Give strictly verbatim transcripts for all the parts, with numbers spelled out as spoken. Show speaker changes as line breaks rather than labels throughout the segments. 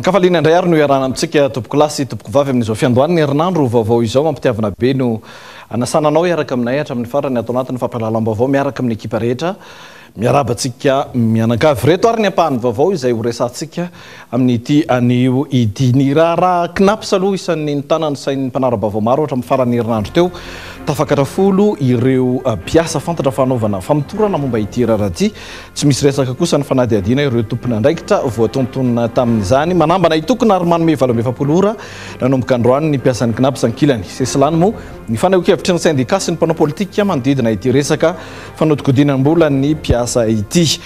Ankafaliana indray ary no iarahana amintsika, tompoko lahy sy tompoko vavy, amin'izao fiandohan'ny herinandro vaovao izao. Mampitiavana be no anasana anao hiaraka aminay hatramin'ny farany ato anatin'ny fampahalalam-baovao miaraka amin'ny ekipa rehetra. Miarahaba antsika mianakavy reto ary ny ampahany vaovao izay ho resantsika amin'ity anio ity. Ny raharaha CNaPS aloha isan'ny nitana ny sain'ny mpanara-baovao maro hatramin'ny faran'ny herinandro teo. Tafakatra folo ireo mpiasa fantatra fanaovana famotorana momba ity raharaha ity. Tsy misy resaka kosa ny fanadihadiana ireo tompon'andraikitra voatontonona tamin'izany. Manambana hitokona ary manome valo amby efapolo ora nanomboka androany ny mpiasan'ny CNaPS ankilany. Sesilany moa ny fanehoan-kevitry ny sendika sy ny mpanao politika manodidina ity resaka fanodikodinam-bola ny mpiasa ity.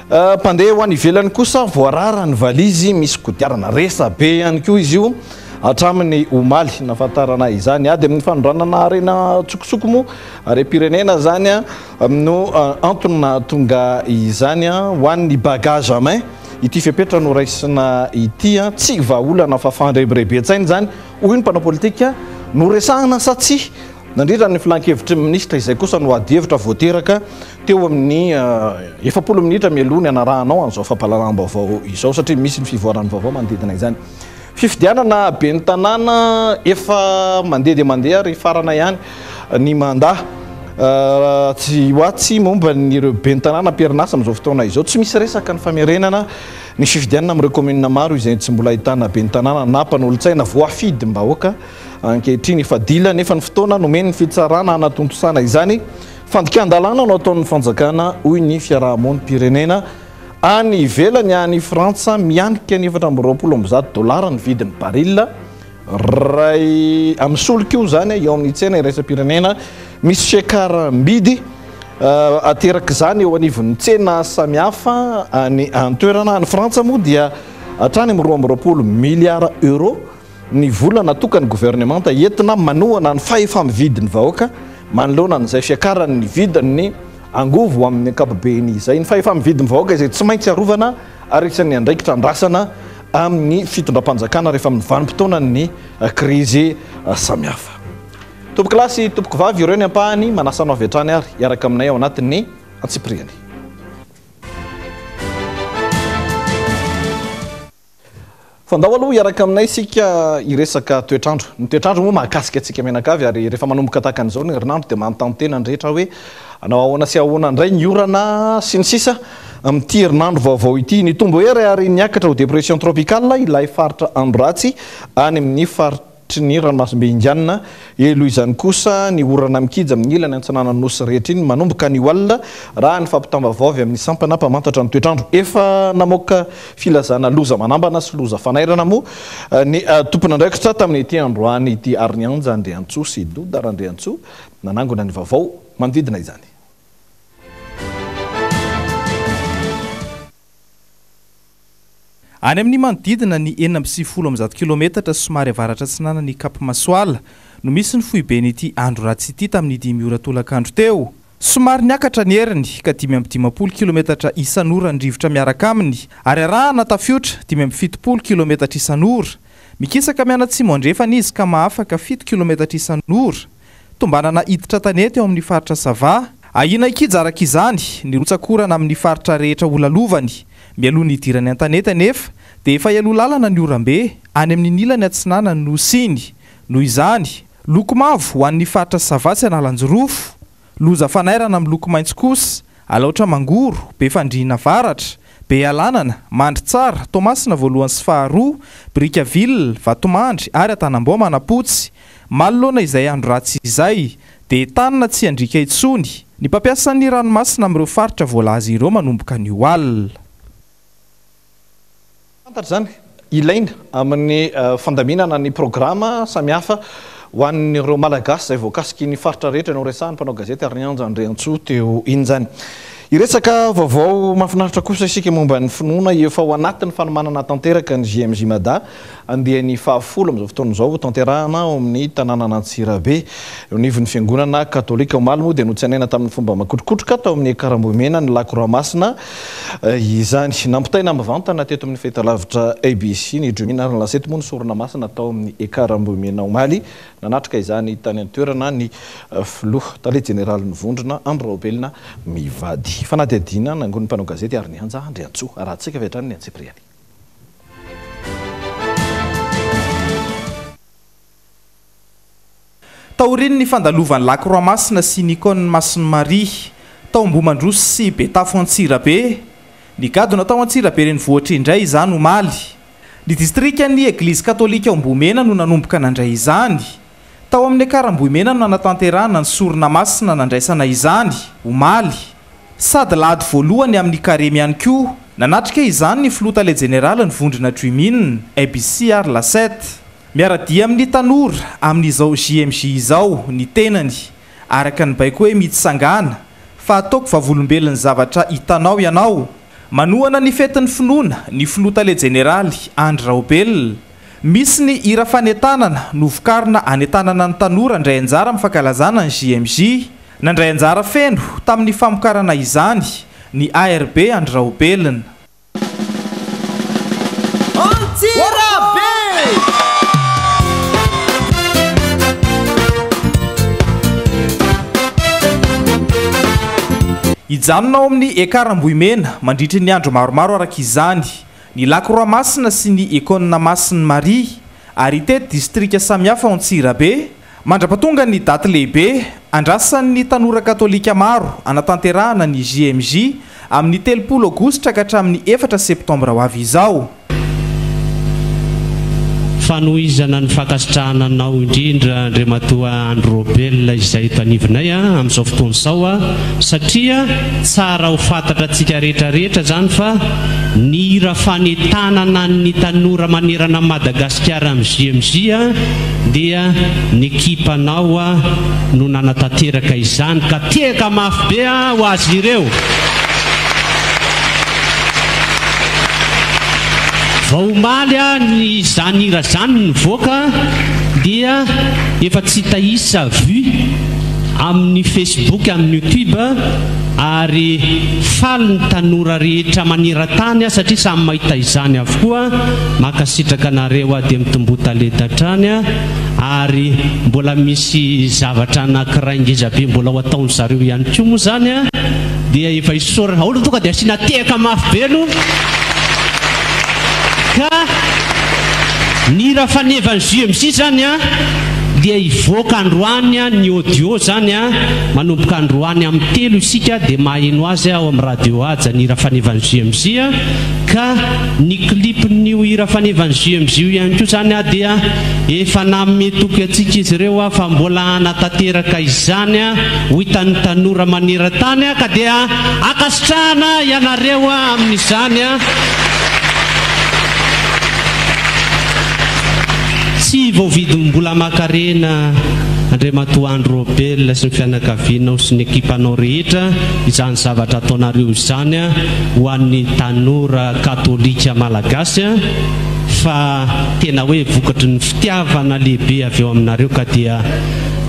Mpandeha ho any ivelany kosa voarara ny valizy misy kodiarana. Resa be ihany koa izy io hatramin'ny omaly nahafantarana izany. Ady amin'ny fanondranana harena an-tsokosoko moa, harem-pirenena zany no antony nahatonga izany. Ho an'ny bagage à main ity fepetra no raisina ity, tsy vahaolana fa fandrebireben-tsaina izany, hoy ny mpanao politika. No resahana sa tsy nandritra ny filan-kevitry ny minisitra izay kosa no ady hevitra voateraka teo amin'ny efapolo minitra mialoha ny anarahanao an'izao fampahalalam-baovao izao, satria misy ny fivoaran'ny vaovao manodidina izany. Fifidianana ben'ny tanàna efa mandeha dia mandeha ary farana ihany ny mandat. Tsy ho atsy momba ireo ben'ny tanàna am-perinasa amin'izao fotoana izao. Tsy misy resaka ny famerenana ny fifidianana amin'ireo commune maro izay tsy mbola ahitana ben'ny tanàna na mpanolotsaina voafidim-bahoaka ankehitriny. Efa dila nefa ny fotoana nomen'ny fitsarana hanatontosana izany. Fandikan-dalàna no ataon'ny fanjakana, hoy ny fiarahamonim-pirenena. Any ivelany, any Frantsa, mianika ny efatra amby roapolo amby zato dolara ny vidin'ny baril ray amin'ny solika io zany eo amin'ny tsena iraisam-pirenena. Misy fiakaram-bidy ateraka izany eo anivon'ny tsena samihafa any an-toerana. Any Frantsa moa dia hatrany amin'ny roa amby roapolo miliara euro ny vola natokan'ny governemanta entina manohana ny fahefa-mividin'ny vahoaka manoloana an'izay fiakaran'ny vidin'ny angovo amin'ny ankapobeny izay. Ny fahefa-mividin'ny vahoaka izay tsy maintsy arovana ary isan'ny andraikitra andrasana amin'ny fitondram-panjakana rehefa amin'ny vanim-potoanan'ny krizy samihafa. Tompoko lahy sy tompoko vavy, ireo ny ampahany manasa anao avy hatrany ary hiaraka aminay ao anatin'ny antsipiriany. Fandao aloha hiaraka aminay isika hiresaka toetrandro. Ny toetrandro moa mahakasika antsika mianakavy, ary rehefa manomboka tahaka an'izao ny herinandro dia manontany tena ny rehetra hoe anao ahoana sy ahoana indray ny orana sy ny sisa amin'ity herinandro vaovao ity. Nitombo hery ary niakatra ho dépression tropicale ilay faritra andro ratsy any amin'ny faritry ny ranomasimbe Indiana. Elo izany kosa ny orana mikija amin'ny ilany antsinanan'ny nosy rehetra iny manomboka ny alina, raha ny fampitam-baovao avy amin'ny sampana mpamantatra ny toetrandro. Efa namoaka filazana loza manambana sy loza fanairana moa ny tompon'andraikitra tamin'ity androany ity. Ary ny Anja Andriantsoa sy Doda Randriantsoa nanangona ny vaovao manodidina izany.
Any amin'ny manodidina ny enina amby sivifolo amby zato kilometatra somary avaratra atsinanan'ny Cap Masoala no misy ny foiben'ity andro ratsy ity tamin'ny dimy ora tolakandro teo. Somary niakatra ny heriny ka dimy amby dimampolo kilometatra isan'ora ny rivotra miaraka aminy, ary arahana tafiotra dimy amby fitopolo kilometatra isan'ora. Mikisaka mianatsimo andrefana izy ka mahafaka fito kilometatra isan'ora. Tombanana hiditra tanety eo amin'ny faritra Sava. Ahiana hikija araka izany ny rotsakorana amin'ny faritra rehetra ho lalovany. Mialoha ny hidirany an-tanety anefa dia efa hialoha lalana ny orambe any amin'ny ilany atsinanan'ny nosy iny. Noho izany, loko mavo ho an'ny faritra Sava sy Analanjirofo, loza fanairana amin'ny loko maitso kosa Alaotra Mangoro, Befandriana Avaratra, Bealanana, Mandritsara, Toamasina voalohany sy faharoa, Brickaville, Vatomandry ary Antanambao Manapotsy. Manoloana izay andro ratsy izay dia tanina tsy handriaka intsony ny mpampiasa ny ranomasina amin'ireo faritra voalaza ireo manomboka ny alina.
Fantatra izany ilaina amin'ny fandaminana ny programa samihafa ho an'ireo Malagasy izay voakasiky ny faritra rehetra no resahan'ny mpanao gazety ary ny Anja Andriantsoa teo iny izany. Hiresaka vaovao mahafinaritra kosa isika momba ny finoana. Efa ao anatin'ny fanomanana tanteraka ny J M J Mada andiany fahafolo amin'izao fotoana izao tanterahana ao amin'ny tanànan'Antsirabe. Eo anivon'ny fiangonana katolika omaly moa dia notsenaina tamin'ny fomba makotrokotroka tao amin'ny Karambohimena ny Lakroa Masina izany. Nampitaina mivantana teto amin'ny fahitalavitra A B C ny Drumina ary ny lasety moa ny sorona masina tao amin'ny Karambohimena omaly. Nanatrika izany tany an-toerana ny filoha tale jeneralin'ny vondrona Andry Raobelina mivady. Fanadihadiana nangonin'ny mpanao gazety ary ny Anja Andriantsoa. Arahantsika avy hatrany ny antsipiriany.
Taorian'ny fandalovan'ny Lakroa Masina sy ny Icône Masin'i Maria tao Ambohimandroso sy Betafo Antsirabe, nigadona tao Antsirabe renivohitra indray izany omaly. Ny distrikan'ny Eglizy Katolika ao Ambohimena no nanomboka nandray izany. Tao amin'ny Ekar Ambohimena no nanatanterahana ny sorona masina nandraisana izany omaly. Sady lahady voalohany amin'ny karemy ihany koa. Nanatrika izany ny filoha tale jeneraly ny vondrona Dream-In, A B C ary La sept. Miara-dia amin'ny tanora amin'izao J M J izao ny tenany, araka ny baiko hoe mitsangana fa ataoko vavolombelon'ny zavatra hitanao ianao. Manohana ny fetin'ny finoana ny filoha tale jeneraly Andry Raobelina. Misy ny hira fanentanana novokarina anentanana ny tanora handray anjara amin'ny fankalazana ny J M J. Nandray anjara feno tamin'ny famokarana izany ny A R B Andry Raobelina.
Antsirabe!
Hijanona ao amin'ny Ekar Ambohimena mandritry ny andro maromaro araka izany ny Lakroa Masina sy ny Icône Masin'i Maria ary hitety distrika samihafa ao Antsirabe mandra-pahatonga ny daty lehibe andrasan'ny tanora katolika maro anatanterahana ny J M J amin'ny telopolo aogositra ka hatramin'ny efatra septambra ho avy izao.
Fanohizana ny fankasitrahana anao indrindra Andriamatoa Andry Raobelina izay eto anivonay a, amin'izao fotoana izao a, satria tsara ho fantatra antsika rehetrarehetra izany fa ny hira fanentanana ny tanora manerana an'i Madagasikara amin'ny J M J a, dia ny ekipanao a no nanatanteraka izany ka tehaka mafy be a ho azy ireo. Vao omaly a ny izany hira izany nivoaka dia efa tsy hita isa vue amin'ny Facebook, amin'ny YouTube ary faly ny tanora rehetra maneran-tany a, satria samy mahita izany avokoa. Mankasitraka anareo a, dia mitomboa talenta hatrany a, ary mbola misy zavatra anankiray ngeza be mbola ho ataon-dry zareo ihany koa moa izany a, dia efa isaorana. Aoka tonga dia asiana tehaka mafy be aloha. Ka ny hira fanevan'ny J M J izany a, dia hivoaka androany a, ny audio izany a, manomboka androany amin'ny telo isika dia maheno azy ao amin'ny radio Haja ny hira fanevan'ny J M J a. Ka ny clipn'io hira fanevan'ny J M J io ihany koa izany a, dia efa nanome toky antsika izy ireo a, fa mbola hanatanteraka izany a, ho hitan'ny tanora maneran-tany a, ka dia ankasitrahana ianareo a amin'izany a. Tsy voavidim-bola makarena Andriamatoa Andry Raobelina sy ny fianakavianao sy ny ekipanao rehetra izany zavatra ataonareo izany a, ho an'ny tanora katolika malagasy a, fa tena hoe vokatry ny fitiavana lehibe avy eo aminareo ka dia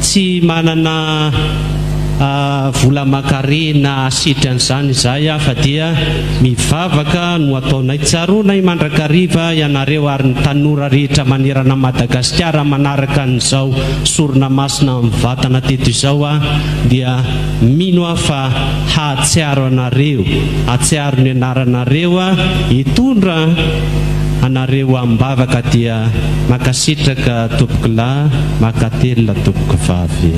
tsy manana, ah, vola makarena asetry an'izany izahay a, fa dia mivavaka no ataonay. Tsaroanay mandrakariva ianareo ary ny tanora rehetra manerana Madagasikara manaraka an'izao sorona masina amin'ny vatana teto izao a, dia mino aho fa hahatsiaro anareo, hahatsiaro ny anaranareo a, hitondra anareo am-bavaka. Dia mankasitraka tompokolahy, mankatelina tompokovavy.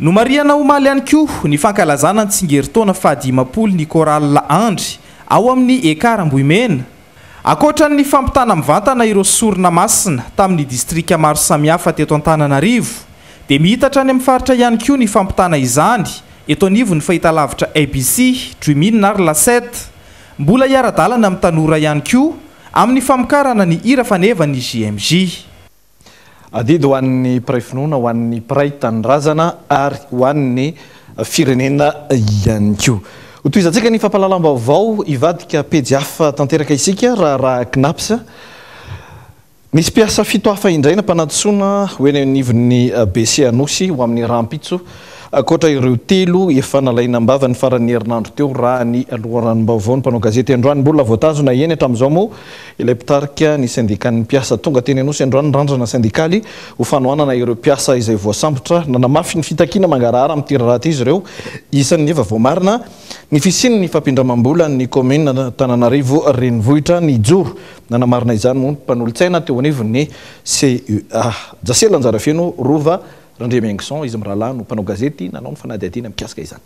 Nomarihana omaly ihany koa ny fankalazana ny tsingerin-taona fahadimampolo ny Chorale Andry ao amin'ny Ekar Ambohimena. Ankoatra ny fampitana mivantana ireo sorona masina tamin'ny distrika maro samihafa teto Antananarivo, dia mihitatra any amin'ny faritra ihany koa ny fampitana izany eto anivon'ny fahitalavitra A B C, Dream-In ary La sept. Mbola hiara-dalana amin'ny tanora ihany koa amin'ny famokarana ny hira fanevan'ny J M J.
Adidy ho an'ny mpiray finoana, ho an'ny mpiray tanindrazana ary ho an'ny firenena ihany koa. Ho tohizantsika ny fampahalalam-baovao hivadika pejy hafa tanteraka isika raha raha C N A P S. Misy mpiasa fito hafa indray nampanantsoina ho eny anivon'ny B C Anosy ho amin'ny rahampitso Ankoatra ireo telo efa nalaina am-bava ny faran'ny herinandro teo raha ny loharanom-baovao ny mpanao gazety androany. Mbola voatazona eny hatramin'izao moa ilay mpitarika ny syndikan'ny mpiasa tonga teny Anosy androany ny Randrana sendikaly ho fanohanana ireo mpiasa izay voasambotra. Nanamafy ny fitakiana mangarahara amin'ity raharaha izy ireo. Isan'ny efa voamarina ny fisian'ny fampindramam-bola ny commune Antananarivo renivohitra nijoro. Nanamarina izany moa ny mpanolotsaina teo anivon'ny C E A. Jasela Anjarafeno Rova Randriamiaingson izy mirahalahy no mpanao gazety nanao ny fanadihadiana mikasika izany.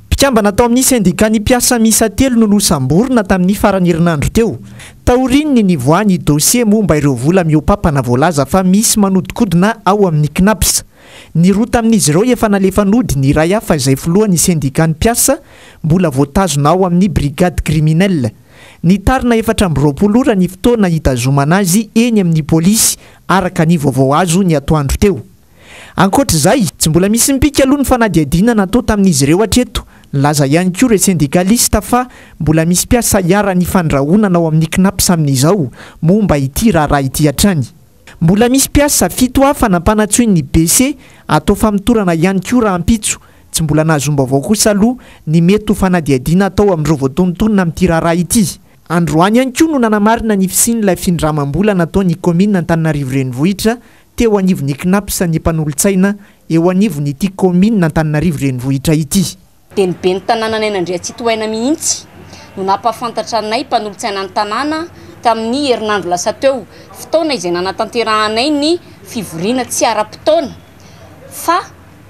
Mpikambana tao amin'ny syndicat ny mpiasa miisa telo no nosamborina tamin'ny faran'ny herinandro teo. Taorian'ny nivoahan'ny dossier momba ireo vola mihoa-pampana voalaza fa misy manodikodina ao amin'ny CNaPS. Ny roa tamin'izy ireo efa nalefa nody, ny iray hafa izay filohan'ny syndicat ny mpiasa mbola voatazona ao amin'ny brigade criminelle. Nitarina efatra amby roapolo ora ny fotoana hitazomana azy eny amin'ny polisy araka ny vaovao azo ny atoandro teo. Ankoatra izay, tsy mbola misy mipika aloha ny fanadihadiana natao tamin'izy ireo hatreto. Nilaza ihany koa ireo syndikalista fa mbola misy mpiasa hiara-ny fandrahonana ao amin'ny CNaPS amin'izao momba ity raharaha ity hatrany. Mbola misy mpiasa fito hafa nampanantsoin'ny B C atao famotorana ihany koa rahampitso. Tsy mbola nahazoam-baovao kosa aloha ny mety ho fanadihadiana atao amin'ireo voatonontonona amin'ity raharaha ity. Androany ihany koa no nanamarina ny fisian'ilay findramam-bola nataon'ny commune Antananarivo renivohitra teo anivon'ny CNaPS ny mpanolotsaina eo anivon'ity commune Antananarivo renivohitra ity.
Dia ny ben'ny tanànanay Andriatsitohaina mihitsy no nampahafantatra anay mpanolotsaina ny tanàna tamin'ny herinandro lasa teo, fotoana izay nanatanterahanay ny fivoriana tsy ara-potoana fa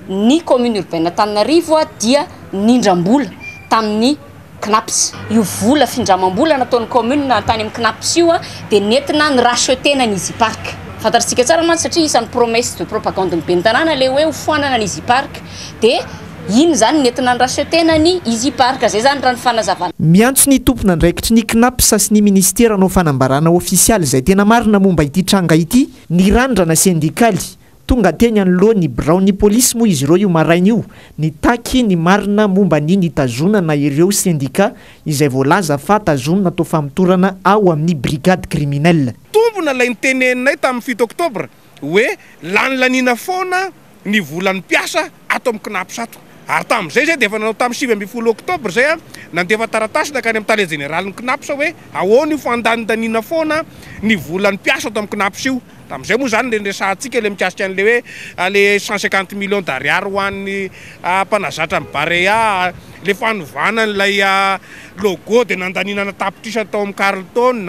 ny commune urbaine Antananarivo dia nindram-bola tamin'ny CNaPS. Io vola findramam-bola nataon'ny commune tany amin'ny CNaPS io dia nentina ny rachetena ny Easy Park. Fantatsika tsara mantsy satria isan'ny promesse de propagande ny ben'ny tanàna ilay hoe hofoanana ny Easy Park, dia iny zany nentina ny rachetena ny Easy Park. Zay zany raha ny fanazavana.
Miantso ny tompon'andraikitry ny CNaPS sy ny ministera hanao fanambarana ofisialy izay tena marina momba ity tranga ity ny Randrana sendikaly. Tonga teny anoloan'ny biraon'ny polisy moa izy ireo io maraina io, nitaky ny marina momba ny nitazonana ireo sendika izay voalaza fa tazonina atao famotorana ao amin'ny brigade criminelle.
Tombona ilay niteneninay tamin'ny fito oktobra hoe lanilanina foana ny volan'ny mpiasa ato amin'ny CNaPS ato. Ary tamin'izay zay dia efa nanao tamin'ny sivy ambin'ny folo oktobra zay a, nandefa taratasy nankany amin'ny tale jeneralin'ny CNaPS hoe ahoana io fandanindaniana foana ny volan'ny mpiasa ato amin'ny CNaPS io. Tamin'izay moa zany le niresahantsika le mikasika an'le hoe, ah, le cent cinquante millions d'ariary ho an'ny, ah, mpanazatra ny Barea, le fanovana an'ilay, ah, logo dia nandaniana tapitrisa tao amin'ny Carlton,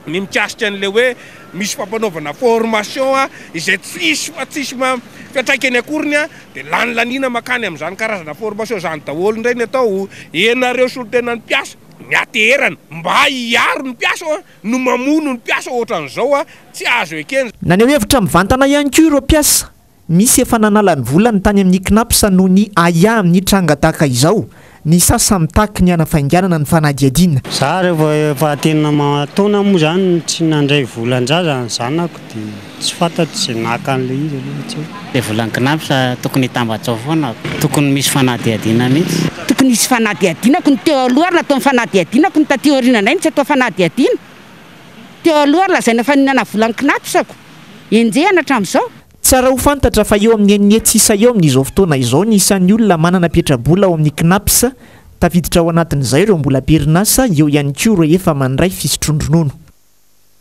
ny mikasika an'le hoe misy fampanaovana formation, ah, izay tsisy fa tsisy ma-, fiantraikany akoriny, ah, dia lanilanina makany amin'izany karazana formation zany daholo indray ny atao. Ianareo solontenan'ny mpiasa miaterana mba hiaro ny mpiasa, ah, no mamono ny mpiasa ohatran'izao, ah, tsy azo ekena.
Naneho hevitra mivantana ihany koa ireo mpiasa. Misy efa nanala ny volany tany amin'ny CNaPS noho ny ahiahy amin'ny tranga tahaka izao. Ny sasany mitaky ny hanafainganana ny fanadihadiana.
Za rehefa efa tena mataona moa zany tsy nandray volan-jaza ny zanako dia tsy fantatro izay naka an'ilay izy aloha tsy haiko.
Ilay volan'ny CNaPS tokony hitambatra ao foana, tokony misy fanadihadiana mihitsy.
Tokony hisy fanadihadiana ko ny teo aloha ary natao ny fanadihadiana ko ny taty aoriana indray no tsy atao fanadihadiana. Teo aloha ary lazaina fa nihinana volan'ny CNaPS ko. Enjehina hatramin'izao.
Tsara ho fantatra fa eo amin'ny enina hetsy isa eo amin'izao fotoana izao ny isan'ny olona manana petrabola ao amin'ny CNaPS. Tafiditra ao anatin'izay ireo mbola am-perinasa, eo ihany koa ireo efa mandray fisotroan-dronono.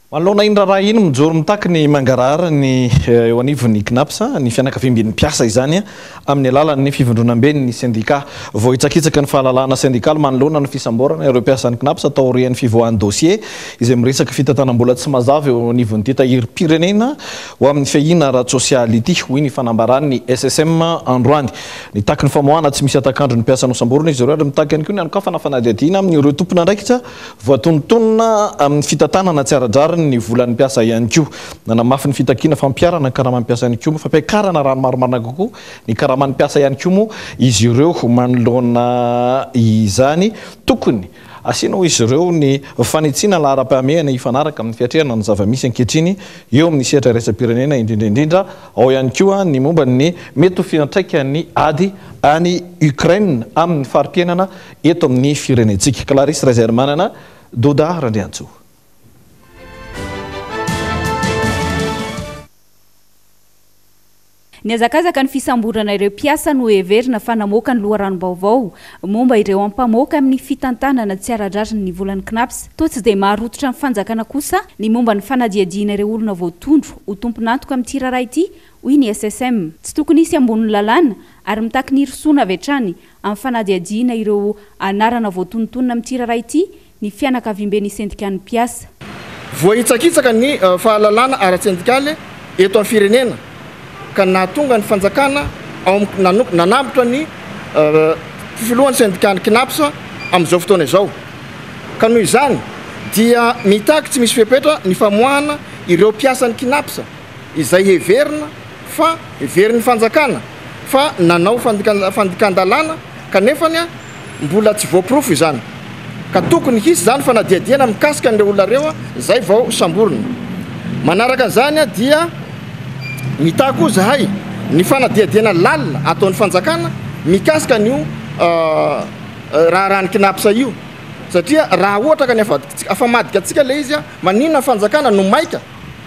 Manoloana iny raharaha iny, mijoro mitaky ny mangarahara ny, eh, eo anivon'ny CNaPS, ny fianakaviamben'ny mpiasa izany, amin'ny alalan'ny fivondronamben'ny sendika. Voahitsakitsaka ny fahalalahana sendikaly manoloana ny fisamborana ireo mpiasan'ny CNaPS taorian'ny fivoahan'ny dossier izay miresaka fitantanam-bola tsy mazava eo anivon'ity tahirim-pirenena ho amin'ny fiahiana ara-tsosialy ity, hoy ny fanambaran'ny S S M androany. Nitaky ny famoahana tsy misy atakandro ny mpiasa nosamborina izy ireo ary mitaky ihany koa ny hanokafana fanadihadiana amin'ireo tompon'andraikitra voatonontonona amin'ny fitantanana tsy ara-drariny ny volan'ny mpiasa ihany koa. Nanamafy ny fitakiana fampiharana ny karaman'ny mpiasa ihany koa, fampiakarana raha ny marimarina kokoa ny karaman'ny mpiasa ihany koa moa izy ireo manoloana izany. Tokony asiana hoy izy ireo ny fanitsiana laharam-pahamehana hifanaraka amin'ny fiatrehana ny zava-misy ankehitriny eo amin'ny sehatra iraisam-pirenena, indrindra indrindra ao ihany koa ny momba ny mety ho fiantraikan'ny ady any Ukraine amin'ny fari-piainana eto amin'ny firenentsika. Clarisse Razaimanana, Doda Randriantsoa.
Niazakazaka ny fisamborana ireo mpiasa no heverina fa namoaka ny loharanom-baovao momba ireo ampamoaka amin'ny fitantanana tsy ara-drariny ny volan'ny CNaPS. Toa tsy dia maharototra ny fanjakana kosa ny momba ny fanadihadiana ireo olona voatondro ho tompon'antoka amin'ity raharaha ity, hoy ny S S M. Tsy tokony hisy ambonin'ny lalàna ary mitaky ny hirosoana avy hatrany amin'ny fanadihadiana ireo anarana voatonontonona amin'ity raharaha ity ny fianakaviamben'ny sendikan'ny mpiasa.
Voahitsakitsaka ny fahalalana ara-tsendikaly eto amin'ny firenena ka nahatonga ny fanjakana ao am-, nanambotra ny filohan'ny sendikan'ny CNaPS amin'izao fotoana izao. Ka noho izany dia mitaky tsy misy fepetra ny famoahana ireo mpiasan'ny CNaPS izay heverina fa heverin'ny fanjakana fa nanao fandika-, fandikan-dalàna kanefa ny mbola tsy voaporofo izany. Ka tokony hisy izany fanadihadiana mikasika an'ireo olona ireo izay vao samborina. Manaraka an'izany dia mitaky koa zahay ny fanadihadiana lalina ataon'ny fanjakana mikasika an'io, euh, raharahan'ny CNaPS io. Satria raha ohatra ka ny afa-, afamadika antsika ilay izy, maninona ny fanjakana no maika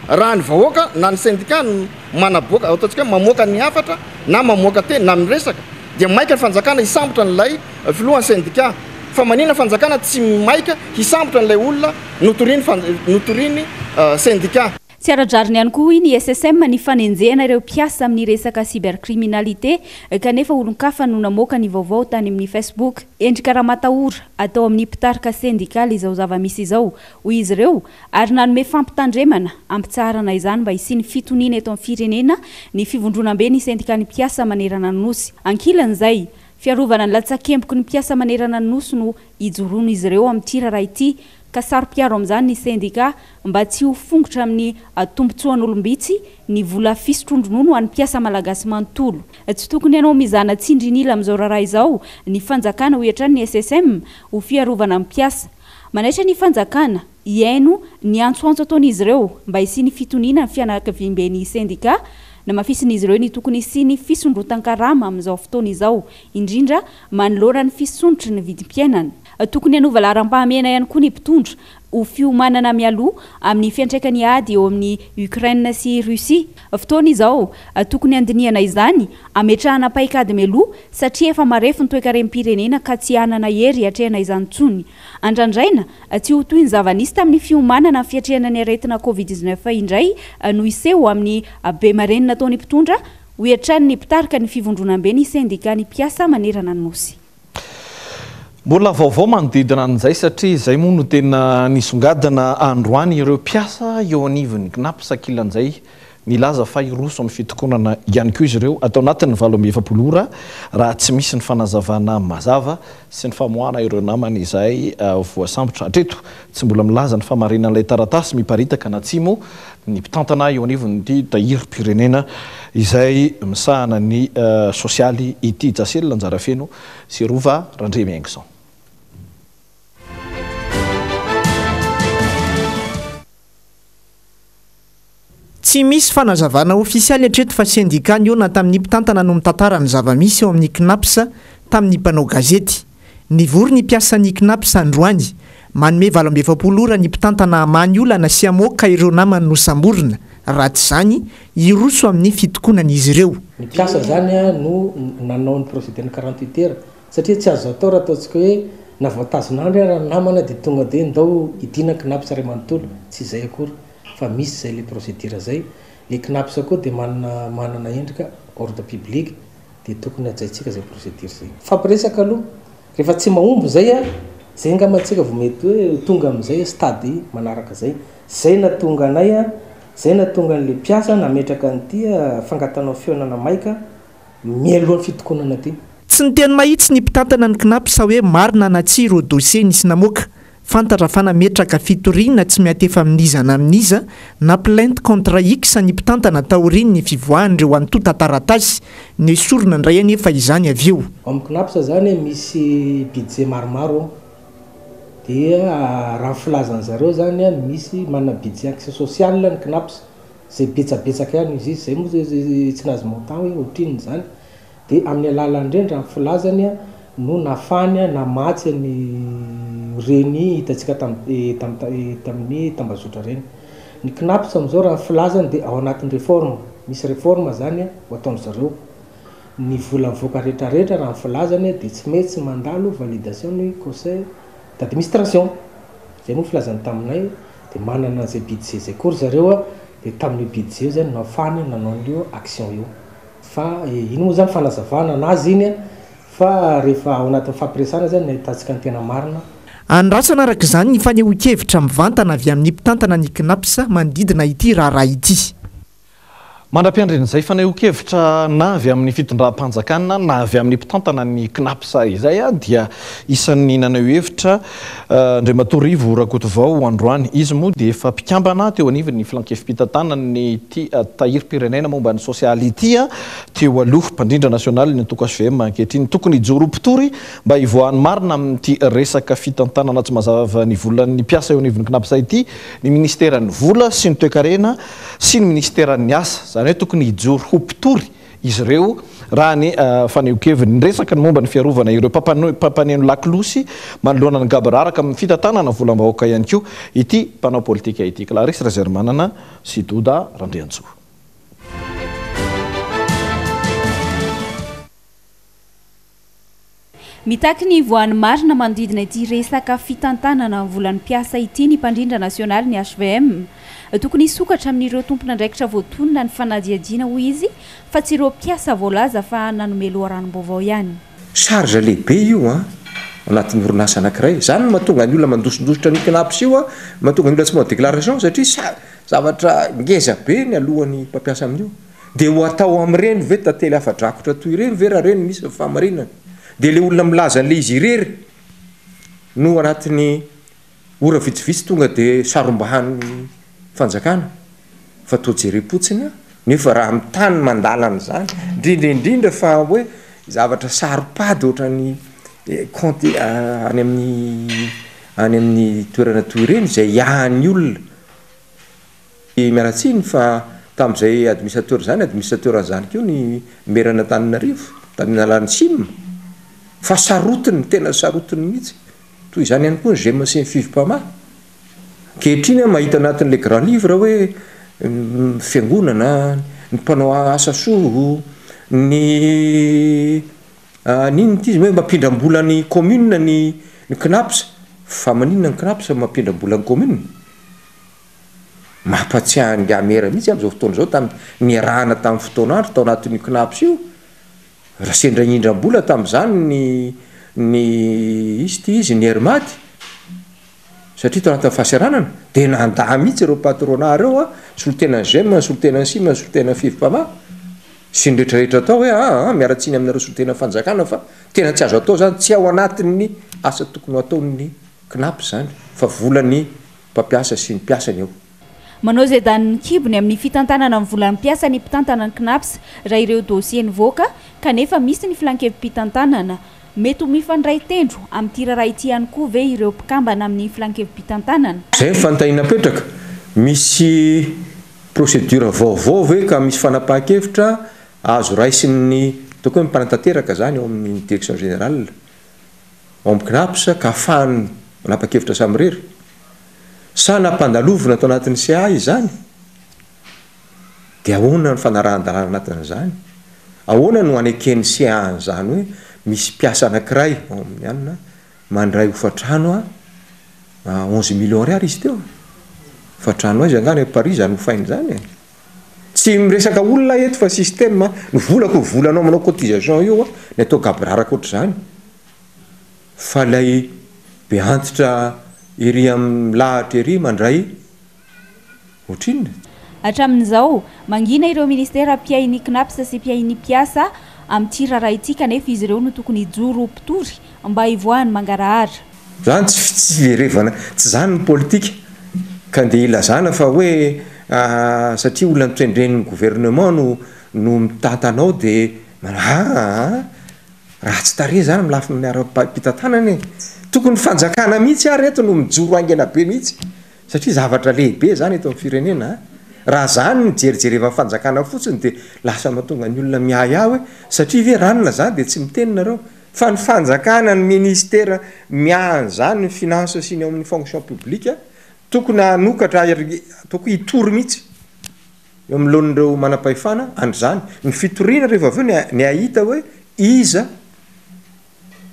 raha ny vahoaka na ny sendika no manaboaka, ataontsika hoe mamoaka ny hafatra na mamoaka teny na miresaka, dia maika ny fanjakana hisambotra an'ilay filohan'ny sendika. Fa maninona fanjakana tsy maika hisambotra an'ilay olona notoriny fan-, notoriny, euh, sendika.
Tsy ara-drariny ihany koa hoy ny S S M ny fanenjehana ireo mpiasa amin'ny resaka cybercriminalité kanefa olon-kafa no namoaka ny vaovao tany amin'ny Facebook. Endrika ramatahora atao amin'ny mpitarika sendikaly izao zava-misy izao, hoy izy ireo, ary nanome fampitandremana ampitsaharana izany mba hisian'ny fitoniana eto amin'ny firenena ny fivondronambe ny sendikan'ny mpiasa manerana ny Nosy. Ankilan'izay, fiarovana ny latsakemboky ny mpiasa manerana ny Nosy no ijoroan'izy ireo amin'ity raharaha ity, ka saro-piaro amin'izany ny sendika mba tsy ho fongotra amin'ny tombontsoan'olom-bitsy ny vola fisotroan-dronono ho an'ny mpiasa malagasy manontolo. Tsy tokony hanao mizana tsindrin'ila amin'izao raharaha izao ny fanjakana, hoy hatrany ny S S M, ho fiarovana ny mpiasa. Manaitra ny fanjakana hihaino ny antsoantso ataon'izy ireo mba hisian'ny fitoniana ny fianakaviamben'ny sendika. Namafisin'izy ireo ny tokony hisian'ny fisondrotan-karama amin'izao fotoana izao, indrindra manoloana ny fisondrotry ny vidim-piainana. Tokony hanova laharam-pahamehana ihany koa ny mpitondra ho fiomanana mialoha amin'ny fiantraikan'ny ady eo amin'ny Ukraine sy Russie. Fotoana izao tokony handinihana izany, ametrahana paikady mialoha satria efa marefo ny toekarem-pirenena ka tsy hanana hery hiatrehana izany intsony. Andrandraina tsy ho toy ny zava-nisy tamin'ny fiomanana ny fiatrehana ny aretina Covid dix-neuf indray no hiseho amin'ny be marenina nataon'ny mpitondra, hoy hatrany ny mpitarika ny fivondronambe ny sendika ny mpiasa manerana ny Nosy.
Mbola vaovao manodidina an'izay satria izay moa no tena nisongadina androany ireo mpiasa eo anivon'ny CNaPS ankilan'izay nilaza fa hiroso amin'ny fitokonana ihany koa izy ireo atao anatin'ny valo amby efapolo ora raha tsy misy ny fanazavana mazava sy ny famoahana ireo namany izay, eh, voasambotra. Hatreto tsy mbola milaza ny famarinan'ilay taratasy miparitaka anatsimo ny mpitantana eo anivon'ity tahirim-pirenena izay misahana ny, eh, sosialy ity. Jasel Anjarafeno sy Rova Randriamiaingison.
Tsy misy fanazavana ofisialy hatreto fa sendika nihaona tamin'ny mpitantana no mitantara ny zava-misy eo amin'ny CNaPS tamin'ny mpanao gazety. Nivory ny mpiasan'ny CNaPS androany. Manome valo amby efapolo ora ny mpitantana hamaha ny olana sy hamoaka ireo namany nosamborina. Raha tsy izany, hiroso amin'ny fitokonana izy ireo.
Ny mpiasa zany a no nanao ny procédure quarante-huit heures satria tsy azo atao raha ataontsika hoe na voatazon'andro raha ny namana dia tonga dia ndao hidina CNaPS iray manontolo. Tsy izay akory fa misy izay le procédure zay. Le CNaPS koa dia manana, manana endrika ordre public dia tokony hajaintsika izay procédure zay. Fampiresaka aloha rehefa tsy mahomby zay a, zay angamba antsika vao mety hoe tonga amin'izay stade manaraka zay. Zay nahatonga anay a, zay nahatonga an'le mpiasa nametraka an'ity fangatanao fihaonana maika mialohan'ny fitokonana ty.
Tsy niteny mahitsy ny mpitantana ny CNaPS hoe marina na tsia ireo dossier nisy namoaka. Fantatra fa nametraka fitoriana tsy miantefa amin'iza na amin'iza na plainte contre X ny mpitantana taorian'ny fivoahan'ireo antontan-taratasy. Nesorina indray anefa izany avy eo.
Ao amin'ny CNaPS zany misy budget maromaro dia raha ny filazan'ny zareo zany misy manana budget action sociale ny CNaPS izay betsabetsaka ihany izy izy, izay moa zay tsy nahazo montant hoe ohatrinona izany. Dia amin'ny alalan'ireny raha ny filazany no nafany namatsy ny reny hitantsika tam-, eh, tam-, eh, tamin'ny tambazotra ireny. Ny CNaPS amin'izao raha ny filazany dia ao anatin'ny réforme. Misy réforme zany ho ataon-dry zareo. Ny vola mivoaka rehetrarehetra, raha ny filazany, dia tsy maintsy mandalo validation ny conseil d'administration. Zay moa filazany taminay. Dia manana an'izay budget zay koa ry zareo a, dia tamin'io budget io zany nahafahany nanao an'io action io. Fa iny moa zany fanazavana anazy iny a, fa rehefa ao anatin'ny fampiresana zany ny ahitantsika ny tena marina.
Andrasana araka izany ny fanehoan-kevitra mivantana avy amin'ny mpitantana ny CNAPS manodidina ity raharaha ity.
Mandra-piandrin'izay fanehoan-kevitra na avy amin'ny fitondram-panjakana na avy amin'ny mpitantana ny CNAPS izay a, dia isan'ny naneho hevitra Andriamatoa Rivo Rakotovao androany. Izy moa dia efa mpikambana teo anivon'ny filan-kevi-pitantanany ity tahirim-pirenena momba ny sosialy ity a, teo aloha, mpandrindra nasionaly ny antoko H V M ankehitriny. Tokony hijoro mpitory mba hivoahan'ny marina amin'ity resaka fitantanana tsy mazava ny volan'ny mpiasa eo anivon'ny CNAPS ity ny ministeran'ny vola sy ny toekarena sy ny ministeran'ny asa. Zany hoe tokony hijoro ho mpitory izy ireo raha ny fanehoan-keviny. Ny resaka ny momba ny fiarovana ireo mpampaneno lakolosy manoloana ny gaboraraka amin'ny fitantanana volam-bahoaka ihany koa ity mpanao politika ity. Clarisse Razerimanana sy Doda Randriantsoa.
Mitaky ny voan'ny marina manodidina ity resaka fitantanana volan'ny mpiasa ity ny mpandrindra nasionaly ny H V M. Tokony hisokatra amin'ireo tompon'andraikitra voatonona ny fanadihadiana, hoy izy, fa tsy ireo mpiasa voalaza fa nanome loharanom-baovao ihany.
Charge lehibe io a anatin'ny orinasa anankiray zany no mahatonga ny olona mandosindositra ny CNAPS io a, mahatonga ny olona tsy manao déclaration, satria sa zavatra ngeza be ny alohan'ny mpampiasa amin'io. De ho atao amin'ireny ve tantely afa-drakotra toy ireny ve raha reny misy ny fahamarinana? De le olona milaza an'le izy irery no anatin'ny ora vitsivitsy tonga de sarombahany fanjakana fa to jerem-potsiny a. Nefa raha mitany mandalana zany, indrindra indrindra fa hoe zavatra saropady ohatrany compte any amin'ny any amin'ny toerana toy ireny zay iahany olona, mialatsiny fa tam'izay administrateur zany, administrateur an'izany koa ny merana Antananarivo tamin'ny alalany SIM, fa sarotiny, tena sarotiny mihitsy. Toy izany ihany koa ny GEM sy ny FIVMPAMA. Ankehitriny a mahita anatin'le grand livre hoe fiangonana, ny mpanao asa soa, ny n'inona ty izy hoe mampindram-bola ny commune ny ny CNAPS. Fa maninona ny CNAPS mampindram-bola ny commune? Mampatsiahny gamera mihitsy am'izao fotoana zao tamy niarahana tamin'ny fotoan'andro tao anatin'io CNAPS io, raha sendra indram-bola tam'izany ny ny izy ty izy ny Airmad, satria tao anatin'ny fahasahiranana de nanda mihitsy ireo patronat reo a, solotenany GEM, solotenany SIM, solotenany FIVMPAMA sy ny rehetrarehetra atao hoe aa miaratsiny aminareo solotena fanjakana, fa tena tsy azo atao zany, tsy ao anatin'ny asa tokony ho ataon'ny CNAPS zany, fa volany mpampiasa sy ny mpiasany eo.
Manao izay danin'ny kibony amin'ny fitantanana ny volan'ny mpiasa ny mpitantana ny CNAPS raha ireo dossier nivoaka, kanefa misy ny filan-kevi-pitantanana. Mety ho mifandray tendro amin'ity raharaha ity ihany koa ve ireo mpikambana amin'ny filan-kevi-pitantanana?
Zay ny fanontaniana apetraka. Misy procédure vaovao ve ka misy fanapahan-kevitra azo raisin'ny ataoko hoe mpanatanteraka zany eo amin'ny direction générale ao amin'ny CNAPS ka ahafahany manapa-kevitra samirery, sa nampandalovina atao anatin'ny C A izany? De ahoana ny fanarahan-dalàna anatin'izany? Ahoana no aneken'ny C A an'izany hoe misy mpiasa anankiray ao amin'ny anina mandray hofatrano a onze millions ariary izy teo? Hofatrano aiza angany Paris zany hofainy zany e? Tsy miresaka olona eto fa système. Ny volako, volanao manao cotisation io a, ny atao gaboraraka ohatr' zany, fa lay be antitra ery amin'ny lahatra ery mandray ohatrinona?
Hatramin'izao, mangina ireo ministera mpiahy ny CNAPS sy mpiahy ny mpiasa amin'ity raharaha ity, kanefa izy ireo no tokony hijoro mpitory mba hivoahany mangarahara.
Zany tsy fitsiverevana, tsy zany ny politika ka ndeha ilazana fa hoe satria olona notendren'ny gouvernement no no mitantanao de aa raha tsy tare zany milafy miara-pitantanana e. Tokony fanjakana mihitsy ary eto no mijoro aingana be mihitsy, satria zavatra lehibe zany eto amin'ny firenena. Raha zany ny jerijereva fanjakana fotsiny de lasa mahatonga ny olona miahy hoe satria ve ranona zany de tsy miteny nareo, fa ny fanjakana, ny ministera miahany zany, ny finance sy ny ao amin'ny fonction publique, tokony hanokatra, ataoko hitory mihitsy. eo amin'loan'ireo manam-pahefana an'izany. Ny fitoriana rehefa avy eo ny ny ahita hoe iza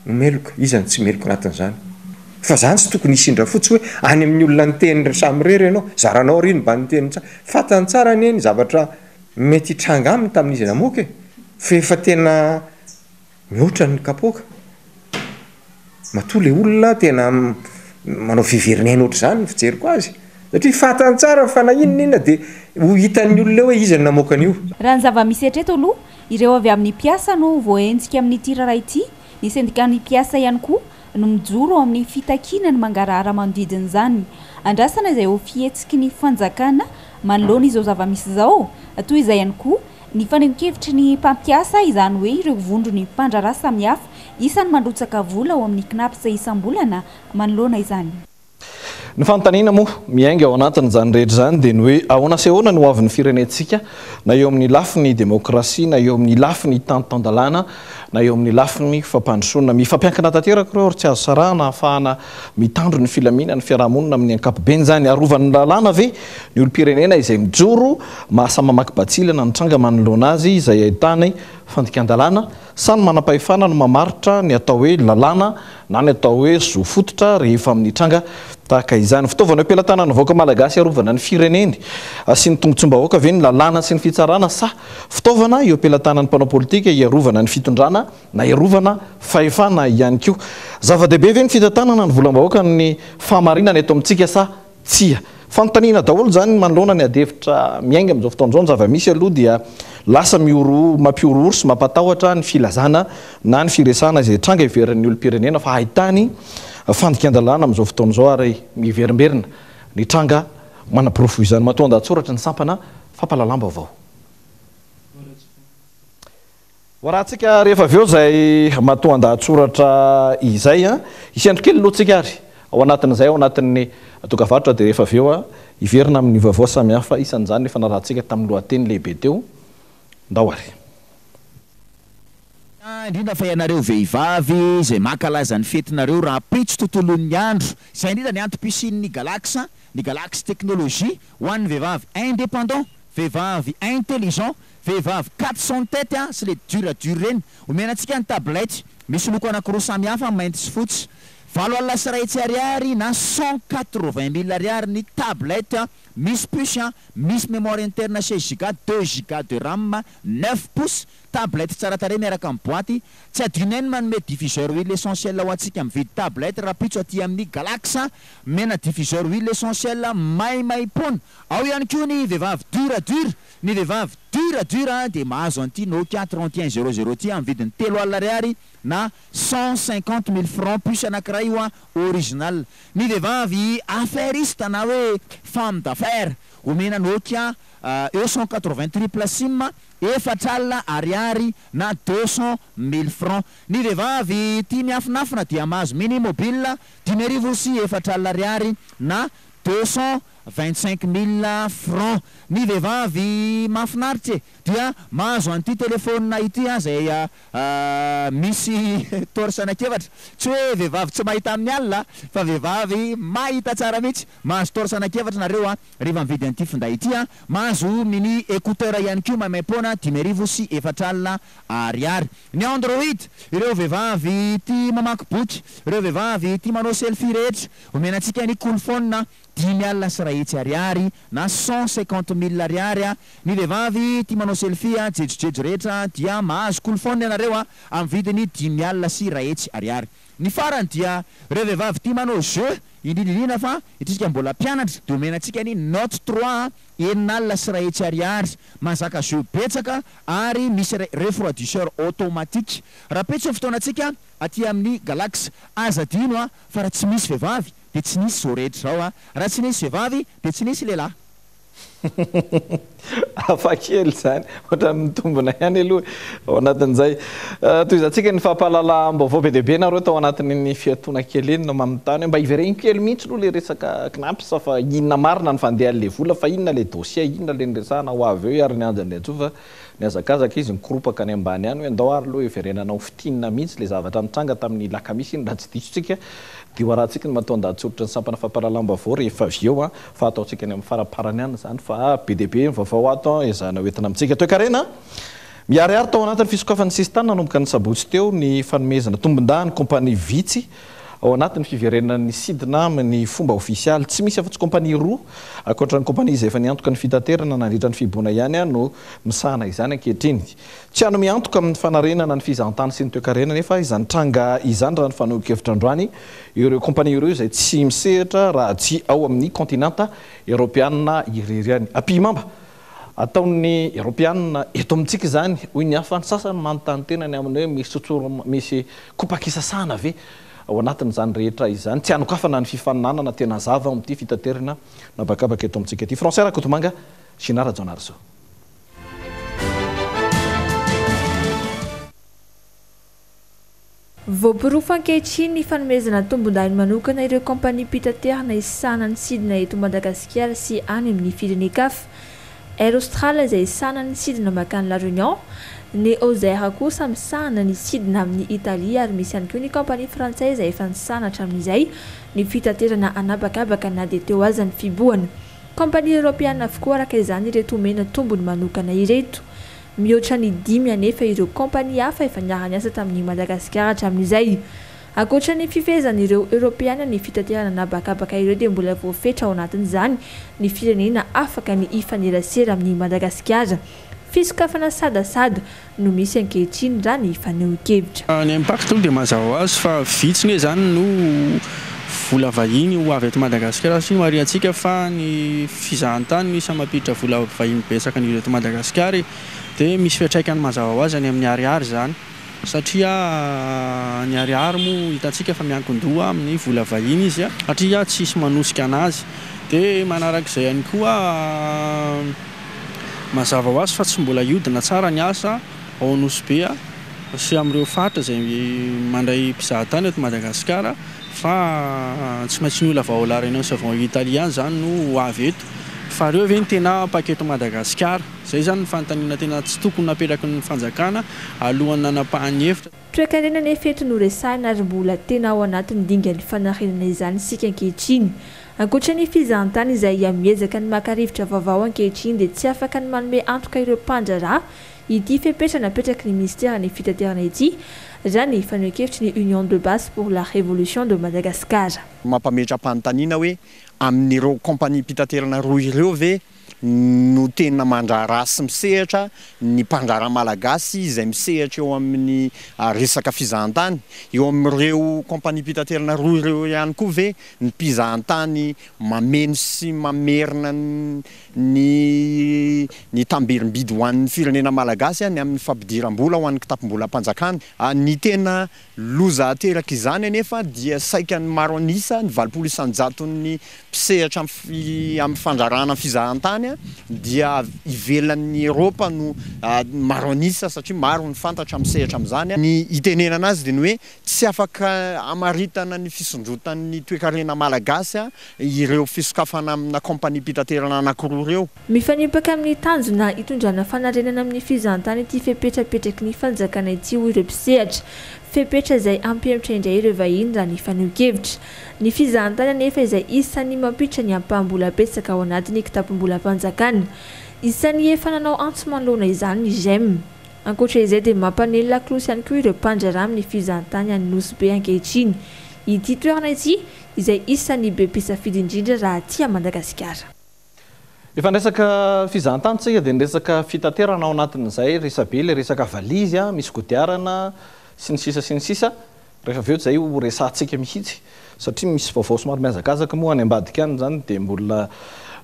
no meloka, iza no tsy meloka anatin'izany. Fa zany tsy tokony hisindra fotsy hoe any amin'ny olona niteny samy irery ianao, zaranao ry ny mba niteny tsara. Fantany tsara anie ny zavatra mety hitranga aminy tamin'izy namoaka e. Fa efa tena mihoatra ny kapoaka. Matoa le olona tena manao fiverinaina ohatr'izany ny fijeriko azy. Satria fantany tsara fa na inona inona dia ho hitan'ny olona eo hoe iza no namoaka an'io.
Raha ny zava-misy hatreto aloha, ireo avy amin'ny mpiasa no voahenjika amin'ity raharaha ity. Ny sendikan'ny mpiasa ihany koa no mijoro ao amin'ny fitakiana ny mangarahara manodidina izany. Andrasana izay ho fihetsiky ny fanjakana manoloana izao zava-misy izao. Toy izay ihany koa ny fanehoan-kevitry ny mpampiasa, izany hoe ireo vondron'ny mpandraharaha samihafa isan'ny mandrotsaka vola ao amin'ny CNaPS isam-bolana manoloana izany.
Ny fanontaniana moa miainga ao anatin'izany rehetra izany dia ny hoe ahoana sy ahoana no hoavin'ny firenentsika, na eo amin'ny lafiny demokrasia, na eo amin'ny lafiny tantan-dalàna, na eo amin'ny lafiny fampandrosoana. Mifampiankina tanteraka ireo ary tsy azo sarahana ahafahana mitandro ny filaminana ny fiarahamonina amin'ny ankapobeny izany. Arovan'ny lalàna ve ny olom-pirenena izay mijoro mahasamy mamaky batsilana ny tranga manoloana azy izay ahitany fandikan-dalàna, sa ny manam-pahefana no mamaritra ny atao hoe lalàna na ny atao hoe zo fototra rehefa amin'ny tranga tahaka izany? Fitaovana eo am-pelatanan'ny vahoaka malagasy arovana ny fireneny sy ny tombontsoam-bahoaka ve ny lalàna sy ny fitsarana, sa fitaovana eo am-pelatanan'ny mpanao politika hiarovana ny fitondrana na hiarovana fahefana ihany koa? Zava-dehibe ve ny fitantanana ny volam-bahoaka ny fahamarinana eto amintsika sa tsia? Fanontaniana daholo izany manoloana ny adihevitra miainga amin'izao fotoana izao. Ny zava-misy aloha dia lasa mihorohoro, mampihorohoro sy mampatahotra ny filazana na ny firesahana izay tranga heverin'ny olom-pirenena fa ahitany fandikan-dalàna amin'izao fotoana izao, ary miverimberina ny tranga manaporofo izany. Matoa an-dahatsoratra ny sampana fampahalalam-baovao. Ho arahantsika rehefa avy eo izay matoa an-dahatsoratra izay. Hisy andro kely aloha tsika ary ao anatin'izay, ao anatin'ny dokavarotra, dia rehefa avy eo hiverina amin'ny vaovao samihafa, isan'izany efa narahantsika tamin'ny lohateny lehibe teo. Ndao ary.
Indrindra fa ianareo vehivavy izay mankalaza ny fetinareo rahampitso tontolon'ny andro. Izay indrindra ny antom-pisian'ny Galax, ny Galax Technologie ho an'ny vehivavy indépendant, vehivavy intelligent, vehivavy quatre cent tête sy le dur dur ireny. Omena antsika ny tablette misy loko anankiroa samihafa, mainty sy fotsy. Valo alina sy iray hetsy ariary na cent quatre-vingt mille ariary ny tablette misy puce, misy mémoire interne seize giga, deux giga de RAM, neuf pouces, tablette tsara tarehy miaraka amin'ny boîte. Tsy adinay ny manome diffuseur huile essentielle ho antsika mividy tablette rahampitso aty amin'ny Galax, mena diffuseur huile essentielle maimaimpoana. Ao ihany koa ny vehivavy dur dur, ny vehivavy dur dur dia mahazo an'ity Nokia trente et un zéro zéro ity amin'ny vidiny telo alina ariary na cent cinquante mille francs puce anankiray io original. Ny vehivavy affairiste na hoe femme d'affaires omena Nokia E cent quatre-vingts triple sim efatra alina ariary na deux cent mille francs. Ny vehivavy tia miafinafina dia mahazo mini mobile dimy arivo sy efatra alina ariary na deux cent vingt-cinq mille francs. Ny vehivavy mahafinaritra e dia mahazo an'ity telefônina ity izay misy torche anankiefatra. Tsy hoe vehivavy tsy mahita amin'ny alina fa vehivavy mahita tsara mihitsy. Mahazo torche anankiefatra nareo rehefa mividy an'ity finday ity. Mahazo mini écouteur ihany koa maimaimpoana dimy arivo sy efatra alina ariary. Ny Android, ireo vehivavy tia mamaky boky, ireo vehivavy tia manao selfie rehetra, omena antsika ny Coolphone dimy alina sy iray hetsy ariary na cent cinquante mille ariary. Ny vehivavy tia manao selfie jejojejo rehetra dia mahazo Coolphone ianareo amin'ny vidiny dimy alina sy iray hetsy ariary. Ny farany dia ireo vehivavy tia manao jeu, indrindra indrindra fa isika mbola mpianatra, dia omena antsika ny Note trois enina alina sy iray hetsy ariary, mahazaka jeu betsaka ary misy refroidisseur automatique. Rahampitso ny fotoanantsika aty amin'ny Galax. Aza adino a, fa raha tsy misy vehivavy dia tsy nisy izao rehetra izao a, raha tsy nisy vehivavy dia tsy nisy lehilahy.
Hafa kely izany, ohatran'ny mitombina ihany aloha ao anatin'izay. Tohizantsika ny fampahalalam-baovao be dia be nareo tao anatin'ny fiatoana kely iny no manontany hoe mba hivereno kely mihitsy aloha ilay resaka CNaPS fa inona marina ny fandehan'ilay vola, fa inona ilay dossier, inona ilay niresahana ho avy eo ary ny anjany antsoa fa nihazakazaka izy nikoropaka any ambany any hoe andao ary aloha hiverenana ho fintinina mihitsy ilay zavatra nitranga tamin'ny lakamisy iny raha tsy diso tsika Dia ho arahantsika ny matoan-dahatsoratra ny sampana fampahalalam-baovao rehefa avy eo a, fa ataontsika any amin'ny faraparany ihany izany, fa be dia be ny vaovao ato ezahana hoentina amintsika. Toekarena miharihary tao anatin'ny fisokafan'ny sisintany nanomboka ny sabotsy teo ny fanomezana tombondahiny kompania vitsy ao anatin'ny fiverenan'ny sidina amin'ny fomba ofisialy. Tsy misy afa-tsy kompania roa ankoatra ny kompania izay efa niantoka ny fitaterana nandritra ny fihibohana ihany no misahana izany ankehitriny. Tsy hanome antoka amin'ny fanarenana ny fizahantany sy ny toekarena nefa izany tranga izany raha ny fanehoan-kevitra androany ireo kompania ireo izay tsy misehatra raha tsy ao amin'ny kontinanta eoropeanina irery ihany. Ampihimamba ataon'ny eoropeanina eto amintsika izany, hoy ny hafa. Ny sasany manontany tena ny amin'ny hoe misy tsotsoro, misy kopakisasana ve ao anatin'izany rehetra izany. Tsy hanokafana ny fifaninanana tena zava amin'ity fitaterana nabakabaka eto amintsika ity. Français Rakotomanga, Gina Rajaonarisoa.
Voaporofo ankehitriny ny fanomezana tombondahiny manokana ireo kompaniam-pitaterana isahana ny sidina eto Madagasikara sy any amin'ny firenen-kafa. Air Austral izay isahana ny sidina makany La Réunion, ny Ozer kosa misahana ny sidina amin'ny Italia, ary misy ihany koa ny kompania frantsay izay efa nisahana hatramin'izay ny fitaterana anabakabaka na dia teo aza ny fihibohana. Kompania eoropeana avokoa araka izany ireto omena tombony manokana ireto. Mihoatra ny dimy anefa ireo kompania hafa efa niara-niasa tamin'ny Madagasikara hatramin'izay. Ankoatra ny fifehezan'ireo eoropeana ny fitaterana anabakabaka ireo dia mbola voafetra ao anatin'izany ny firenena afaka ny hifanerasera amin'ny Madagasikara. Fisokafana sadasada no misy ankehitriny raha ny fanehoan-kevitra.
Ny impact aloha dia mazava ho azy fa vitsy ne zany no vola vahiny ho avy eto Madagasikara, satria marihantsika fa ny fizahantany misy mampiditra vola vahiny betsaka ny eto Madagasikara, dia misy fiantraikany mazava ho azy any amin'ny ariary zany, satria ny ariary moa hitantsika fa miankin-doha amin'ny vola vahiny izy, satria tsisy manosika anazy. Dia manarak'izay ihany koa mazava ho azy fa tsy mbola hiodina tsara ny asa ao Nosy Be sy amin'ireo faritra izay mandray mpizahatany eto Madagasikara, fa tsy maintsy ny olona avy ao La Réunion sy avy ao Italie ihany zany no ho avy eto. Fa ireo ve ny tena mpaketo Madagasikara? Izay zany ny fanontaniana tena tsy tokony napetraky ny fanjakana alohan'ny nanapahany hevitra.
Toekarena nefa eto no resahina ary mbola tena ao anatin'ny dingan'ny fanarenana izany isika ankehitriny. Ankoatra ny fizahantany izay miezaka ny maka rivotra vaovao ankehitriny dia tsy afaka ny manome antoka ireo mpandraharaha ity fepetra napetraky ny ministeran'ny fitaterana ity raha ny fanehoan-kevitry ny Union de base pour la révolution de Madagascar.
Mampametra-panontaniana hoe amin'ireo kompaniam-pitaterana roa ireo ve no tena mandraharaha sy misehatra ny mpandraharaha malagasy izay misehatra eo amin'ny resaka fizahantany? Eo amin'ireo kompaniam-pitaterana roa ireo ihany koa ve ny mpizahantany mameno sy mamerina ny ny tamberim-bidy ho an'ny firenena malagasy ny amin'ny fampidiram-bola ho an'ny kitapom-bolam-panjakana? Ny tena loza ateraka izany anefa dia saika ny maro an'isa, ny valopolo isan-jaton'ny mpisehatra amin'ny fandraharahana fizahantany dia ivelan'ny Eoropa no maro an'isa, satria maro ny fantatra misehatra amin'izany. Ny itenenana azy dia ny hoe tsy afaka hamaritana ny fisondrotan'ny toekarena malagasy ireo fisokafana amina kompaniam-pitaterana anankiroa ireo.
Mifanipaka amin'ny tanjona hitondrana fanarenana amin'ny fizahantany ity fepetrapetraky ny fanjakana ity hoy ireo mpisehatra. Fepetra izay hampihemotra indray ireo vahiny raha ny fanehoan-kevitra. Ny fizahantany anefa izay isan'ny mampiditra ny ampaham-bola betsaka ao anatin'ny kitapom-bolam-panjakana. Isan'ny efa nanao antso manoloana izany ny G E M. Ankoatra izay dia mampanely lakolosy ihany koa ireo mpandraharaha amin'ny fizahantany any Nosy Be ankehitriny. Ity toerana ity izay isan'ny be mpisafidy indrindra raha aty Madagasikara.
Efa niresaka fizahantany tsika dia niresaka fitaterana ao anatin'izay resabe ilay resaka valizy, misy kodiarana sy ny sisa sy ny sisa. Rehefa avy eo izay ho resahantsika mihitsy, satria misy vaovao somary mihazakazaka moa any ambadika any izany dia mbola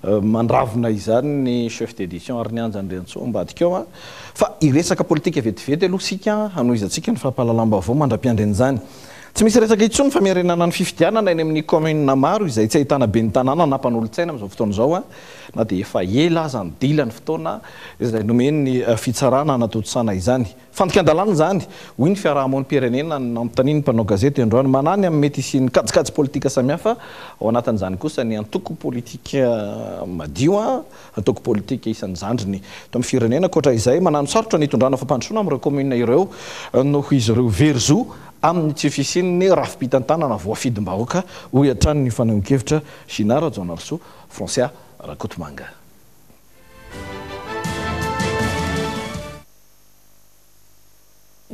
mandravona izany ny chef d'édition ary ny Anja Andriantsoa ambadika ao. Fa hiresaka politika vetivety aloha isika hanohizantsika ny fampahalalam-baovao mandra-piandry an'izany. Tsy misy resaka intsony fa miarenana ny fifidianana eny amin'ny commune maro izay tsy ahitana ben'ny tanàna na mpanolotsaina amin'izao fotoana izao, na dia efa ela aza ny dila ny fotoana izay nomen'ny fitsarana hanatontosana izany. Fandikan-dalàna izany, hoy ny fiarahamonim-pirenena nanontanian'ny mpanao gazety androany. Manahy ny amin'ny mety hisian'ny kajikajy politika samihafa, ao anatin'izany kosa ny antoko politika madio, antoko politika isan'ny zandriny eto amin'ny firenena. Ankoatra izay, manano sarotra ny hitondrana fampandrosoana amin'ireo kaominina ireo noho izy ireo very zo amin'ny tsy fisian'ny rafi-pitantanana voafidim-bahoaka, hoy hatrany ny fanehoan-kevitra Gina Rajaonarisoa, Francia Rakotomanga.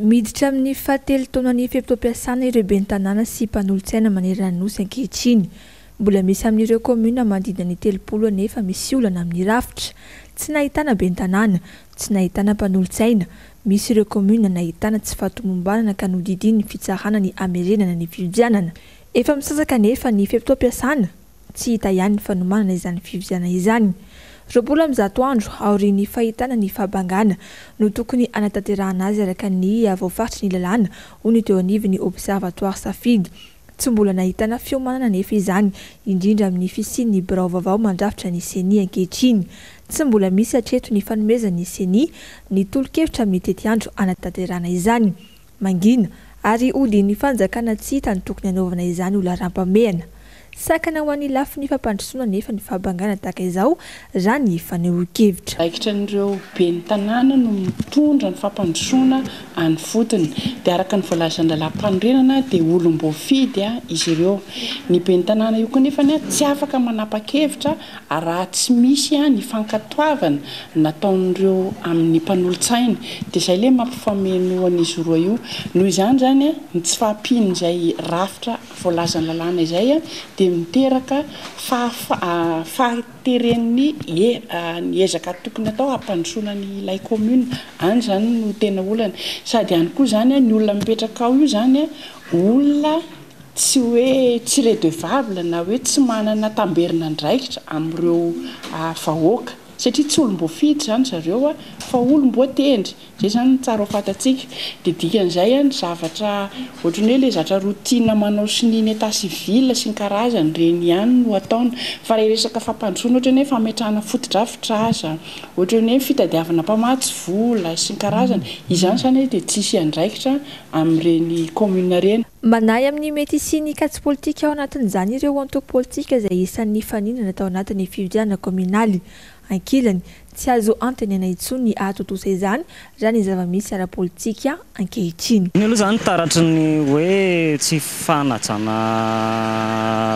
Miditra amin'ny fahatelo taonan'ny fe-potoam-piasana ireo ben'ny tanàna sy mpanolotsaina manerana ny nosy ankehitriny. Mbola misy amin'ireo kaominina manodidina ny telopolo anefa misy olana amin'ny rafitra. Tsy nahitana ben'ny tanàna, tsy nahitana mpanolotsaina. Misy ireo kaominina nahitana tsy fahatomombanana ka nodidian'ny fitsarana ny hamerenana ny fifidianana. Efa misasaka anefa ny fe-potoam-piasana, tsy hita ihany ny fanomanana izany fifidianana izany. Roapolo amby zato andro aorian'ny fahitana ny fahabangana no tokony hanatanterahana azy araka ny voafaritry ny lalàna, hoy ny teo anivon'ny Observatoire Safidy. Tsy mbola nahitana fiomanana anefa izany, indrindra amin'ny fisian'ny birao vaovao mandrafitra ny CENI ankehitriny. Tsy mbola misy hatreto ny fanomezan'ny CENI ny tolo-kevitra amin'ny tetiandro hanatanterahana izany. Mangina ary hodian'ny fanjakana tsy hita ny tokony hanaovana izany ho laharam-pahamehana. Sakana ho an'ny lafiny fampandrosoana nefa ny fahabangana tahaka izao raha ny fanehoan-kevitra.
Raikitra an'ireo ben'ny tanàna no mitondra ny fampandrosoana any fotony. Dia araka ny voalazan'ny lalàm-panorenana dia olom-boafidy izy ireo. Ny ben'ny tanàna io koa nefa tsy afaka manapa-kevitra raha tsy misy ny fankatoavana nataon'ireo amin'ny mpanolotsaina. Dia izay ilay mampifameno an'izy roa io. Noho izany zany ny tsy fahampian'izay rafitra voalazan'ny lalàna izay dia miteraka fahateren'ny ny ezaka tokony atao hampandrosoana ny ilay commune. Any zany no tena olana. Sady ihany koa zany ny olona mipetraka ao io zany olona tsy hoe tsy redevable na hoe tsy manana tamberina andraikitra amin'ireo vahoaka, satria tsy olom-boafidy zany zareo fa olom-boatendry. Izay zany tsara ho fantatsika. Dia dikan'izay ny zavatra ohatran'ny hoe ilay zavatra routine manao sy ny état civil sy ny karazany ireny ihany no ataony. Fa raha resaka fampandrosoana ohatran'ny hoe fametrahana fotodrafitrasa, ohatran'ny hoe fitadiavana mpamatsy vola sy ny karazany, izany zany dia tsisy andraikitra amin'ireny commune ireny.
Manahy amin'ny mety hisian'ny kajy politika ao anatin'izany ireo antoko politika izay isan'ny faninana tao anatin'ny fifidianana kaominaly. Ankilany, tsy azo antenaina intsony ny hahatontosa izany raha ny zava-misy ara-politika ankehitriny.
Iny aloha izany taratry ny hoe tsy fanajana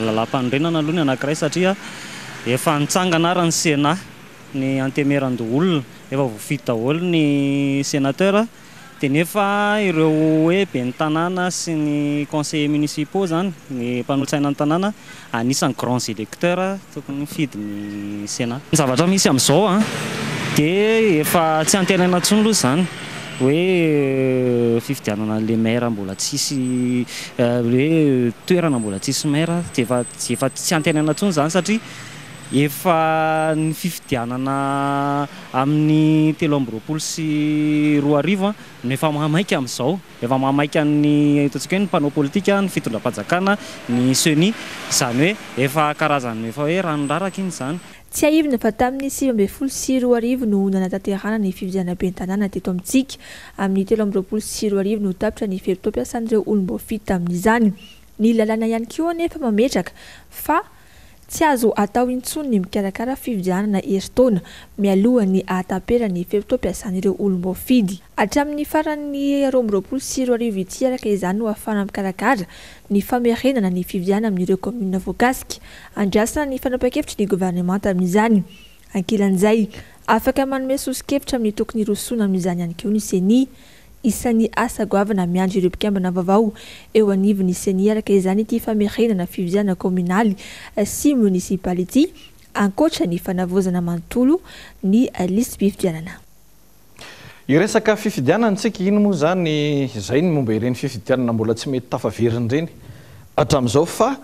lalàm-panorenana aloha ny anankiray, satria efa nitsangana ary ny Sénat, ny antemeran-doholona, efa voafidy daholo ny sénateur, dia nefa ireo hoe ben'ny tanàna sy ny conseillers municipaux zany, ny mpanolotsaina ny tanàna, anisan'ny grands électeurs tokony mifidy ny Sénat. Ny zavatra misy amin'izao a dia efa tsy antenaina intsony aloha izany hoe fifidianana le maire mbola tsisy, hoe toerana mbola tsisy maire, dia efa efa tsy antenaina intsony izany, satria efa ny fifidianana amin'ny telo amby roapolo sy roa arivo no efa mahamaika amin'izao. Efa mahamaika ny ataontsika hoe ny mpanao politika, ny fitondram-panjakana, ny CENI, izany hoe efa karazany efa hoe ranoraraka iny izany.
Tsiahivina fa tamin'ny sivy ambin'ny folo sy roa arivo no nanatanterahana ny fifidianana ben'ny tanàna teto amintsika. Amin'ny telo amby roapolo sy roa arivo no tapitra ny fe-potoam-piasan'ireo olom-boafidy tamin'izany. Ny lalàna ihany koa anefa mametraka fa tsy azo atao intsony ny mikarakara fifidianana herintaona mialohan'ny ahataperan'ny fe-potoam-piasan'ireo olom-boafidy. Hatramin'ny faran'ny roa amby roapolo sy roa arivo ity araka izany no ahafahana mikarakara ny famerenana ny fifidianana amin'ireo kaominina voakasika. Andrasana ny fanapahan-kevitry ny governemanta amin'izany. Ankilan'izay, afaka manome soso-kevitra amin'ny tokony hirosoana amin'izany ihany koa ny CENI. Isan'ny asa goavana miandry ireo mpikambana vaovao eo anivon'ny CENI araka izany ity famerenana fifidianana kaominaly sy monisipaly ity, ankoatra ny fanavaozana manontolo ny lisi-pifidianana.
Iresaka fifidianana tsika, ino moa zany izay ny momba ireny fifidianana mbola tsy mety tafaverina ireny hatramin'izao, fa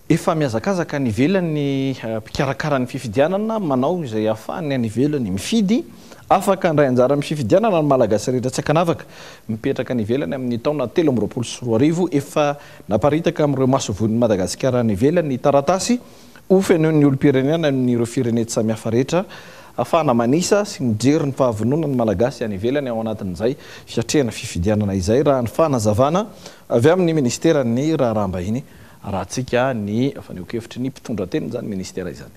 efa mihazakazaka any ivelany mpikarakara ny fifidianana manao izay ahafahany any ivelany mifidy. Afaka handray anjara amin'ny fifidianana ny Malagasy rehetra tsy ankanavaka mipetraka any ivelany amin'ny taona telo amby roapolo sy roa arivo. Efa naparitaka amin'ireo masoivohon'ny Madagasikara any ivelany ny taratasy ho fenoin'ny olom-pirenena amin'ireo firenena samihafa rehetra Ahafahana manisa sy mijery ny fahavononan'ny Malagasy any ivelany ao anatin'izay fiatrehana fifidianana izay, raha ny fanazavana avy amin'ny ministeran'ny raharaham-bahiny, arahantsika ny fanehoan-kevitry ny mpitondra teny izany ministera izany.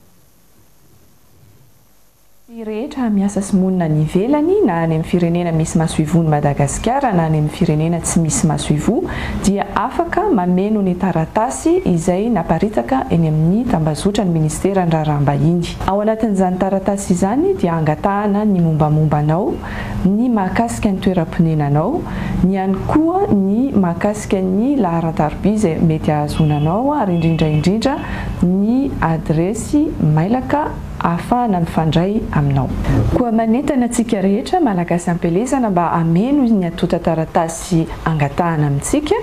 Ny rehetra miasa sy monina any ivelany, na any amin'ny firenena misy masoivoho ny Madagasikara na any amin'ny firenena tsy misy masoivoho, dia afaka mameno ny taratasy izay naparitaka eny amin'ny tambazotra ny ministeran'ny raharaham-bahiny. Ao anatin'izany taratasy izany dia angatahana ny mombamomba anao, ny mahakasika ny toeram-ponenanao, ny ihany koa ny mahakasika ny laharan-tarobia izay mety ahazoana anao, ary indrindra indrindra ny adiresy mailaka ahafahana mifandray aminao. Koa manentana antsika rehetra Malagasy am-pielezana mba hameno ny antontan-taratasy angatahana amintsika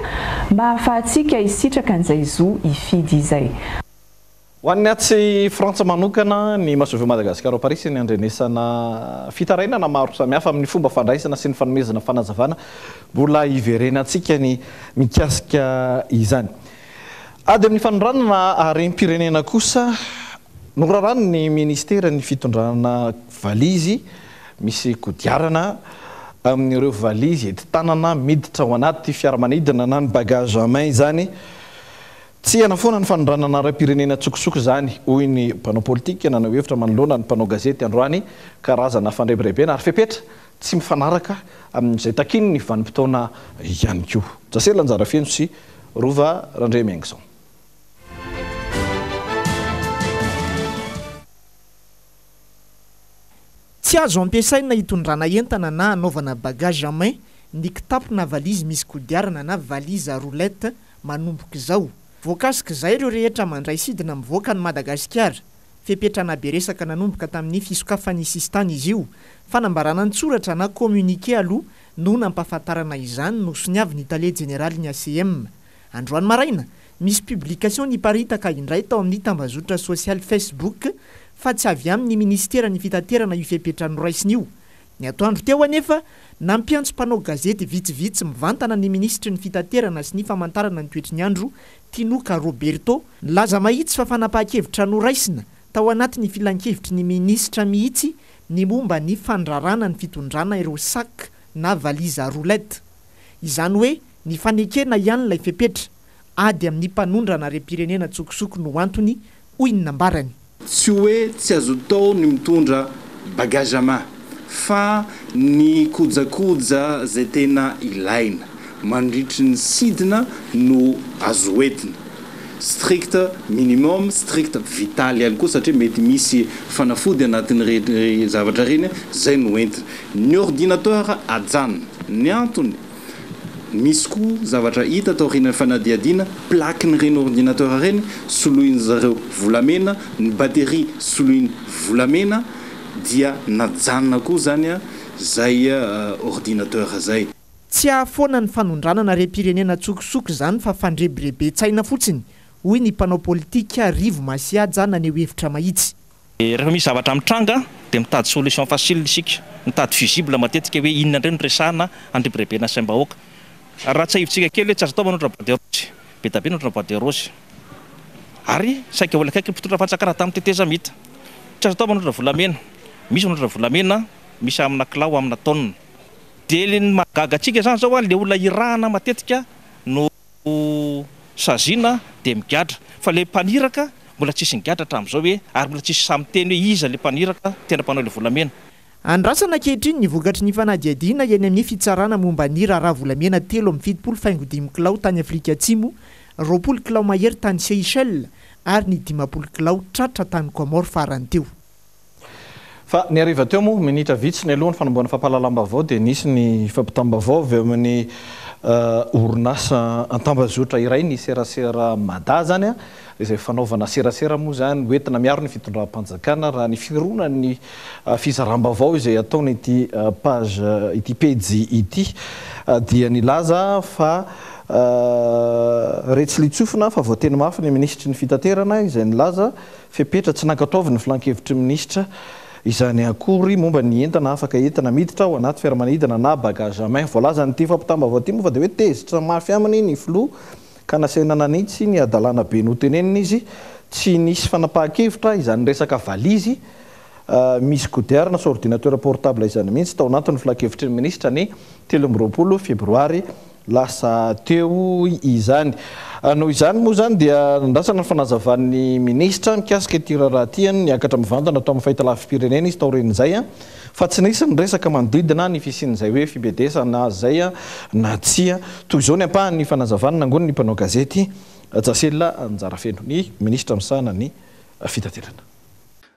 mba ahafahantsika hisitraka an'izay zo hifidy izay.
Ho an'ny atsy Frantsa manokana, ny masoivoho Madagasikara ao Parisy ny andrenesana fitarainana maro samihafa amin'ny fomba fandraisana sy ny fanomezana fanazavana. Mbola hiverenantsika ny mikasika izany. Ady amin'ny fanondranana harem-pirenena kosa, norarany ny ministera ny fitondrana valizy misy kodiarana amin'ireo valizy enti-tanana miditra ao anaty fiaramanidina na ny bagage à main izany. Tsy hanafoana ny fanondranana harem-pirenena tsokosoko izany, hoy ny mpanao politika nanao hevitra manoloana ny mpanao gazety androany. Karazana fandrebirebena ary fepetra tsy mifanaraka amin'izay takiny ny vanim-potoana ihany koa. Jasela Anjarafeno sy Rova Randriamiaingison.
Tsy azo ampiasaina hitondrana entana na anaovana bagage à main ny kitapo na valizy misy kodiarana na valise à roulette manomboka izao. Voakasika izay ireo rehetra mandray sidina mivoaka ny Madagasikara. Fepetra be resaka nanomboka tamin'ny fisokafan'ny sisintany izy io. Fanambarana an-tsoratra na communiqué aloha no nampahafantarana izany no soniavin'ny tale jeneralin'ny A C M. Androany maraina, misy publication niparitaka indray tao amin'ny tambazotra sosialy Facebook fa tsy avy amin'ny ministeran'ny fitaterana io fepetra noraisina io. Ny atoandro teo anefa, nampiantso mpanao gazety vitsivitsy mivantana ny minisitry ny fitaterana sy ny famantarana ny toetry ny andro, Tinoka Roberto, nilaza mahitsy fa fanapahan-kevitra noraisina tao anatin'ny filankevitry ny minisitra mihitsy ny momba ny fandrarana ny fitondrana ireo sac na valise à roulette. Izany hoe ny fanekena ihany ilay fepetra, ady amin'ny mpanondrana harem-pirenena tsokosoko no antony, hoy ny nambarany.
Tsy hoe tsy azo atao ny mitondra bagage à main, fa ny kojakoja izay tena ilaina mandritry ny sidina no azo entina. Strict minimum, strict vital ihany koa, satria mety misy fanafody anatin'ireny zavatra ireny izay no entina. Ny ordinateur ajanona. Ny antony, misy koa zavatra hita taorian'ny fanadihadiana, plaquen'ireny ordinateur ireny soloiny zareo volamena, ny batterie soloiny volamena, dia najanona koa zany a zay ordinateur zay.
Tsy ahafoana ny fanondranana harem-pirenena tsokosoko izany fa fandrebireben'tsaina fotsiny, hoy ny mpanao politika Rivo Masiaja naneho hevitra mahitsy.
Rehefa misy zavatra mitranga dia mitady solution facile isika, mitady fusible matetika hoe inona indray no resahana andrebirebena saim-bahoaka. Raha tsy hevitsika kely hoe tsy azo atao manondra bois de rose, be dia be manondra bois de rose. Ary saika olona akaiky mpitondra fanjakana tamin'ny tetezamita. Tsy azo atao manondra volamena, misy manondra volamena, misy amina kilao, amina taonina. Dia ny mahagaga antsika izany zao a, le olona irahana matetika no saziana dia migadra, fa le mpaniraka mbola tsisy nigadra hatramin'izao hoe, ary mbola tsisy samy miteny hoe iza le mpaniraka tena mpanao le volamena.
Andrasana ankehitriny ny vokatry ny fanadihadiana eny amin'ny fitsarana momba ny raharaha volamena telo amby fitopolo faingo dimy kilao tany Afrika Atsimo, roapolo kilao mahery tany Seychelles ary ny dimampolo kilao tratra tany Comores farany teo.
Fa ny hariva teo moa, minitra vitsy ny alohan'ny fanombohana fampahalalam-baovao dia nisy ny fampitam-baovao avy amin'ny orinasa an-tambazotra iray ny serasera Mada zany a, izay fanaovana serasera moa zany hoentina miaro ny fitondram-panjakana raha ny fironan'ny fizaram-baovao izay ataony ity page ity pejy ity dia nilaza fa retsy litsofina fa voateny mafy ny minisitry ny fitaterana izay nilaza fepetra tsy nankatoavy ny filankevitry minisitra izany akory momba ny entana afaka entina miditra ao anaty fiaramanidina na bagage à main. Voalazan'ity fampitam-baovao ity moa fa dia hoe tezitra mafy aminy ny filoha ka nasaina nanitsy ny hadalana be notenenina izy. Tsy nisy fanapahan-kevitra izany resaka valizy misy kodiarana sy ordinateur portable izany mihitsy tao anatin'ny filankevitry ny minisitra ny telo amby roapolo febroary lasa teo izany. Noho izany moa izany dia nandrasana ny fanazavan'ny minisitra mikasika ity raharaha ity. Niakatra mivantana tao amin'ny fahitalavi-pirenena izy taorian'izay, fa tsy nisy ny resaka manodidina ny fisian'izay hoe fibedesana izay na tsia. Toy izao ny ampahan'ny fanazavana nangonin'ny mpanao gazety Jasela Anjarafeno, ny minisitra misahana ny fitaterana.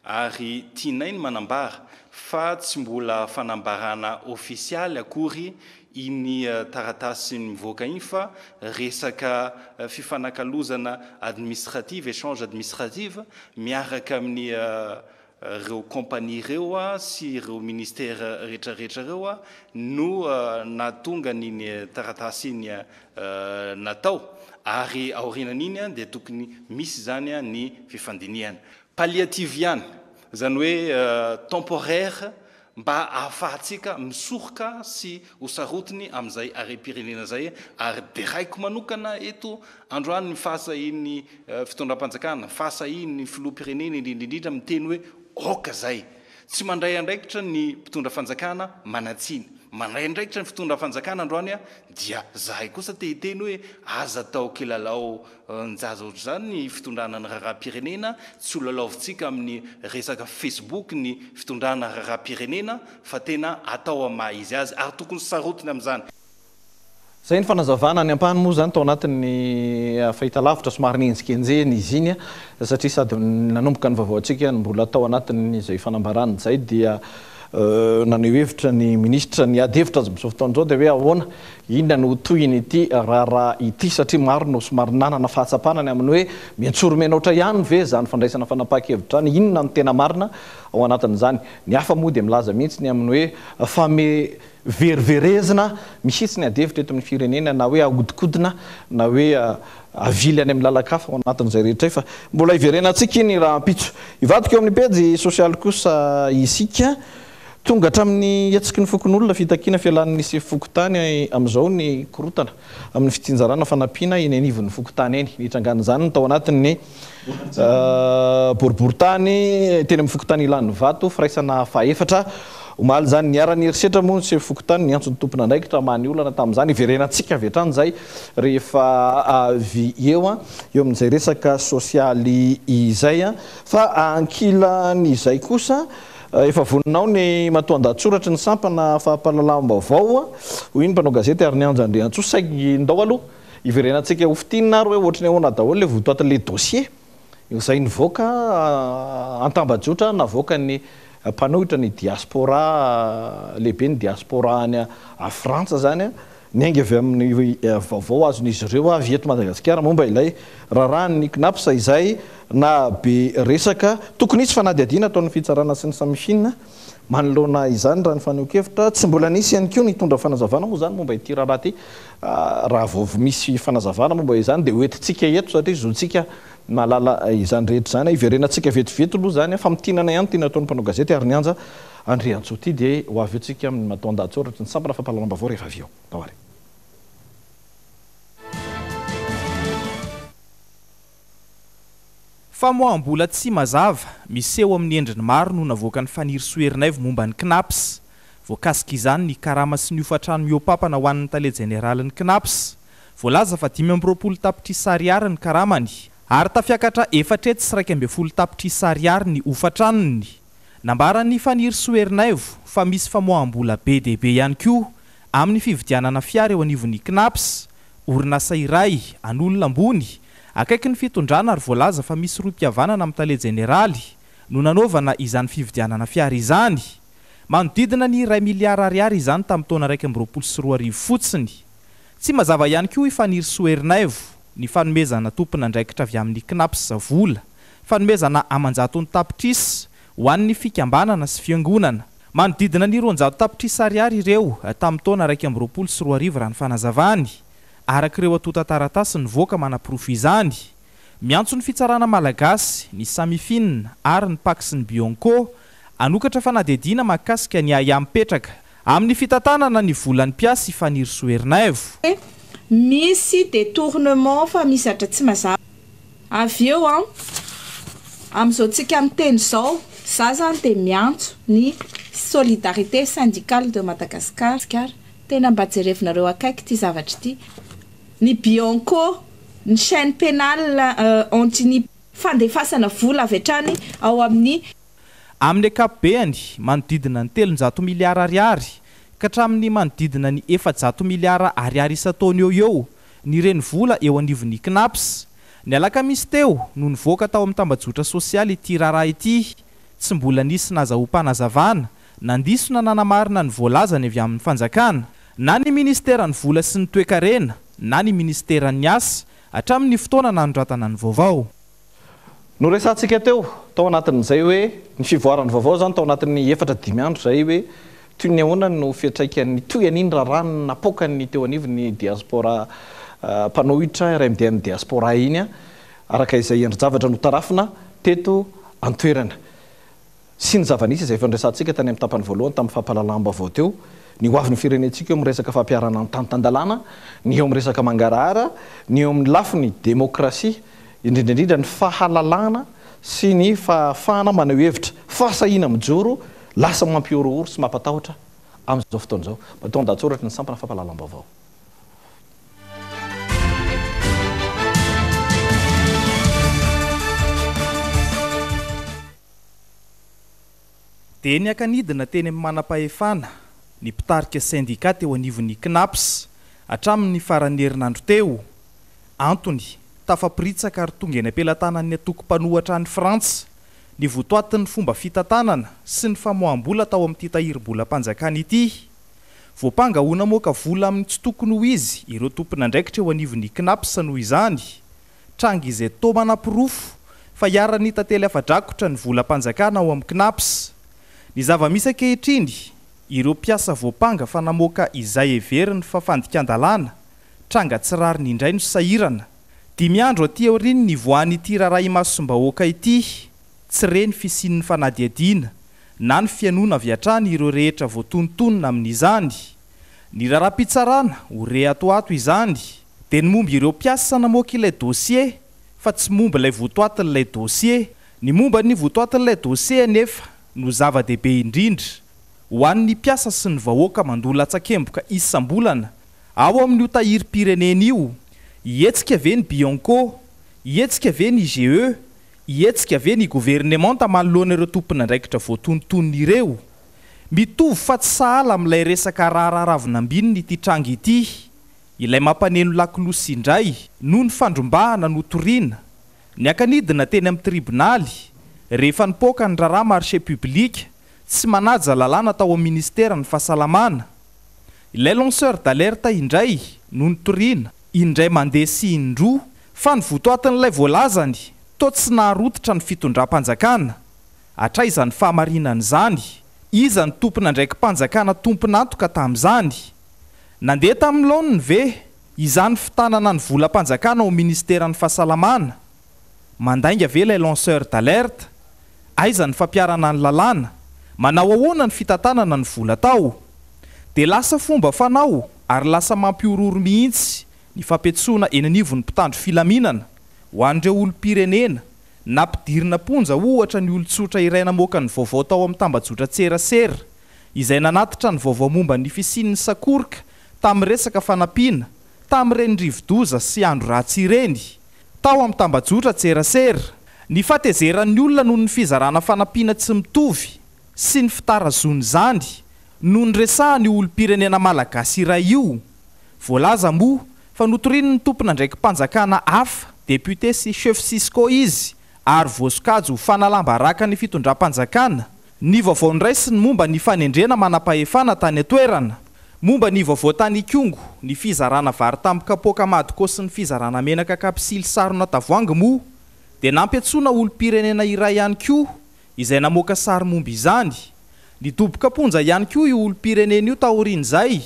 Ary tianay ny manambara fa tsy mbola fanambarana ofisialy akory iny taratasy mivoaka iny, fa resaka fifanakalozana administrative, échange administrative miaraka amin'ny ireo compagnie ireo sy ireo ministère rehetrarehetra ireo no nahatonga n'iny taratasy iny natao. Ary aorianan'iny dia tokony misy zany ny fifandinihana palliative ihany, zany hoe temporaire, mba ahafahantsika misoroka sy ho sarotiny amin'izay harem-pirenena zay. Ary deraiko manokana eto androany ny fahasahian'ny fitondram-panjakana, fahasahian'ny filoham-pirenena indrindra indrindra miteny hoe aoka zay. Tsy mandray andraikitra ny mpitondra fanjakana manan-tsiny, mandray andraikitra ny fitondra fanjakana androany dia zahay kosa te hiteny hoe aza atao kilalao njaza ohatr'izany ny fitondrana ny raharaham-pirenena, tsy ho lalaovintsika amin'ny resaka Facebook ny fitondrana raharaham-pirenena, fa tena atao amin'ny maha izy azy ary tokony sarotiny amin'izany.
Zay ny fanazavana ny ampahany moa zany tao anatin'ny fahitalavitra somary nihenjikenjehina izy iny, satria sady nanomboka ny vaovao antsika no mbola tao anatin'izay fanambarana izay dia naneho hevitra ny minisitra ny ady hevitra azy amin'izao fotoana izao dia hoe ahoana, inona no tohin'ity raharaha ity, satria maro no somary nanana fahatsapana ny amin'ny hoe miantsoro menoatra ihany ve zany fandraisana fanapahan-kevitra any, inona no tena marina ao anatin'izany. Ny hafa moa dia milaza mihitsy ny amin'ny hoe fame veriverezina mihitsy ny ady hevitra eto amin'ny firenena, na hoe ahodikodina na hoe avily any amin'ny lalan-kafa ao anatin'izay rehetra fa mbola hiverenantsika iny rahampitso. Hivadika eo amin'ny pejy sosialy kosa isika. Tonga hatramin'ny hetsiky ny fokonolona fitakiana fialan'ny sefo fokontany amin'izao ny korotana amin'ny fitsinjarana fanampiana eny anivon'ny fokontany eny. Nitrangan'izany tao anatin'ny boriborintany teny amin'ny fokontany Ilanivato, firaisana fahaefatra. Omaly izany niharan'ny herisetra moa ny sefo fokontany niantso ny tompon'andraikitra hamaha ny olana tamin'izany. Hiverenantsika avy hatrany izay rehefa avy eo eo amin'izay resaka sosialy izay. Fa ankilan'izay kosa efa voninao ny matoan-dahatsoratry ny sampana fampahalalam-baovao, hoy ny mpanao gazety ary ny Anja Andriantsoa. Saingy ndao aloha hiverenantsika ho fintinina ary hoe ohatry ny ahoana daholo ilay votoatin'ilay dossier izay nivoaka an-tambajotra navoaka ny mpanohitra ny diaspora lehibe, ny diaspora any Frantsa zany, niainga avy amin'ny vaovao azon'izy ireo avy eto Madagasikara momba ilay raharahan'ny CNaPS izay na be resaka. Tokony hisy fanadihadiana ataon'ny fitsarana sy ny Samifin manoloana izany raha ny fanehoan-kevitra. Tsy mbola nisy ihany koa nitondra fanazavana moa zany momba ity raharaha ity. Raha vao misy fanazavana momba izany dia hoentintsika eto satria zontsika mahalala izany rehetra izany. Hiverenantsika vetivety aloha zany, famintinana ihany tiana ataon'ny mpanao gazety ary ny Anja Andriantsoa ity dia ho avy eo tsika amin'ny matoan-dahatsoratra ny sampana fampahalalam-baovao rehefa avy eo. Tao ary.
Famoaham-bola tsy mazava miseho amin'ny endriny maro no navoakan'ny Fanirisoa Ernaivo momba ny CNaPS. Voakasika izany ny karama sy ny hofantrano mihoa-pampana ho an'ny tale jeneralin'ny CNaPS. Voalaza fa dimy amby roapolo tapitrisa ariary ny karamany ary tafiakatra efatra hetsy sy iraika ambin'ny folo tapitrisa ariary ny hofantranony. Nambaran'ny Fanirisoa Ernaivo fa misy famoaham-bola be dia be ihany koa amin'ny fividianana fiara eo anivon'ny CNaPS, orinasa iray an'olona ambony akaiky ny fitondrana, ary voalaza fa misy rohim-pihavanana amin'ny tale jeneraly no nanaovana izany fividianana fiara izany. Manodidina ny iray miliara ariary izany tamin'ny taona iraika amby roapolo sy roa arivo fotsiny. Tsy mazava ihany koa i Fanirisoa Ernaivo ny fanomezana tompon'andraikitra avy amin'ny CNaPS vola, fanomezana aman-jatony tapitrisa ho an'ny fikambanana sy fiangonana. Manodidina ny roanjato tapitrisa ariary ireo tamin'ny taona iraika amby roapolo sy roa arivo raha ny fanazavany. Araka ireo antontan-taratasy nivoaka manaporofo izany. Miantso ny fitsarana malagasy, ny Samifin ary ny Pac sy ny Bianco hanokatra fanadihadiana mahakasika ny ahiahy mipetraka amin'ny fitantanana ny volan'ny mpiasa i Fanirisoa Ernaivo.
Misy détournement fa misy zavatra tsy mazava. Avy eo an, amin'izao tsika miteny izao, Za zany dia miantso ny Solidarité Syndicale de Madagascar, tena mba jerevinareo akaiky ity zavatra ity. Ny Bianco, ny chaîne pénale anti ny fandefasana vola avy hatrany ao amin'ny.
Amin'ny ankapobeny, manodidina ny telonjato miliara ariary ka hatramin'ny manodidina ny efajato miliara ariary isan-taona eo eo ny renivola eo anivon'ny CNaPS. Ny alakamisy teo no nivoaka tao amin'ny tambajotra sosialy ity raharaha ity. Tsy mbola nisy nazahoam-panazavana, nandiso na nanamarina ny voalazany avy amin'ny fanjakana, na ny ministeran'ny vola sy ny toekarena, na ny ministeran'ny asa, hatramin'ny fotoana nanoratana ny vaovao.
Noresahantsika teo tao anatin'izay hoe ny fivoaran'ny vaovao izany tao anatin'ny efatra dimy andro izay hoe toy ny ahoana no fiantraikan'ny toy an'iny raharaha napoakan'ny teo anivon'ny diaspora mpanohitra R M D M diaspora iny, araka izay endri-javatra notarafina teto an-toerana. Sy ny zava-nisy izay efa noresahantsika tany amin'ny tapany voalohany tamin'ny fampahalalam-baovao teo, ny ho avin'ny firenentsika eo amin'ny resaka fampiharana ny tany-tan-dalàna, ny eo amin'ny resaka mangarahara, ny eo amin'ny lafiny demokrasia, indrindra indrindra ny fahalalana sy ny fahafahana maneho hevitra, fahasahiana mijoro, lasa mampihorohoro sy mampatahotra amin'izao fotoana izao. Matoa an-dahatsoratra ny sampana fampahalalam-baovao.
Dia niaka-nidina teny amin'ny manam-pahefana ny mpitarika sendika teo anivon'ny CNaPS hatramin'ny faran'ny herinandro teo. Antony, tafaporitsaka ary tonga eny am-pelatanan'ny antoko mpanohatra any Frantsa ny votoatin'ny fomba fitantanana sy ny famoaham-bola tao amin'ity tahirim-bolam-panjakana ity. Voampanga ho namoaka vola amin'ny tsy tokony ho izy ireo tompon'andraikitra eo anivon'ny CNaPS noho izany. Tranga izay toa manaporofo fa iharan'ny tantely afa-drakotra ny volam-panjakana ao amin'ny CNaPS. Ny zava-misy ankehitriny, ireo mpiasa voampanga fa namoaka izay heveriny fa fandikan-dalàna, tranga tsy rariny indray no sahirana. Dimy andro aty aorian'ny nivoahan'ity raharaha imasombahoaka ity, tsy re ny fisian'ny fanadihadiana na ny fihainoana avy hatrany ireo rehetra voatonontonona amin'izany. Ny raharaham-pitsarana ho re atoato izany, dia ny momba ireo mpiasa namoaka ilay dossier fa tsy momba ilay votoatin'ilay dossier. Ny momba ny votoatin'ilay dossier anefa no zava-dehibe indrindra ho an'ny mpiasa sy ny vahoaka mandoa latsakemboka isam-bolana ao amin'io tahirim-pirenena io. Hihetsika ve ny Bianco? Hihetsika ve ny I G E? Hihetsika ve ny governemanta manoloana ireo tompon'andraikitra voatonontonona ireo? Mitovy fa tsy sahala amin'ilay resaka raharaha ravinambinina ity tranga ity. Ilay mampaneno lakolosy indray noho ny fandrombahana notoriana. Niaka-nidina teny amin'ny tribonaly rehefa nipoaka ny raharaha marché public tsy manaja lalàna tao amin'ny ministeran'ny fahasalamana. Ilay lanceur d'alerte indray no notoriana, indray mandeha sy indroa, fa ny votoatin'ilay voalazany toa tsy naharototra ny fitondram-panjakana. Hatraiza ny fahamarinan'izany? Iza ny tompon'andraiki-panjakana tompon'antoka tamin'izany? Nandeha tamin'ny laoniny ve izany fitanana ny volam-panjakana ao ministeran'ny fahasalamana? Mandainga ve ilay lanceur d'alerte? Aiza ny fampiharana ny lalàna? Manao ahoana ny fitantanana ny vola tao? Dia lasa fomba fanao ary lasa mampihorohoro mihitsy ny fampiantsoana eny anivon'ny mpitandro filaminana ho an'ireo olom-pirenena nampidirina am-ponja ohatra ny olon-tsotra iray namoaka ny vaovao tao amin'ny tambajotra tserasera izay nanatitra ny vaovao momba ny fisian'ny sakoroka tamin'ny resaka fanampiana tamin'ireny rivodoza sy andro ratsy ireny tao amin'ny tambajotra tserasera. Ny fahatezeran'ny olona noho ny fizarana fanampiana tsy mitovy sy ny fitarazoan'izany no niresahany io olom-pirenena malagasy iray io. Voalaza moa fa notorian'ny tompon'andraiki-panjakana hafa, député sy chef Cisco izy, ary voasokajy ho fanalam-baraka ny fitondram-panjakana. Ny vaovao noraisiny momba ny fanendrena manam-pahefana tany an-toerana, momba ny vaovao tany Ikongo, ny fizarana vary tamin'ny kapoaka madiko sy ny fizarana menaka kapsily sarona tavoahangy moa, dia nampiantsoana olom-pirenena iray ihany koa izay namoaka sary momba izany. Nidoboka am-ponja ihany koa io olom-pirenena io taorian'izay,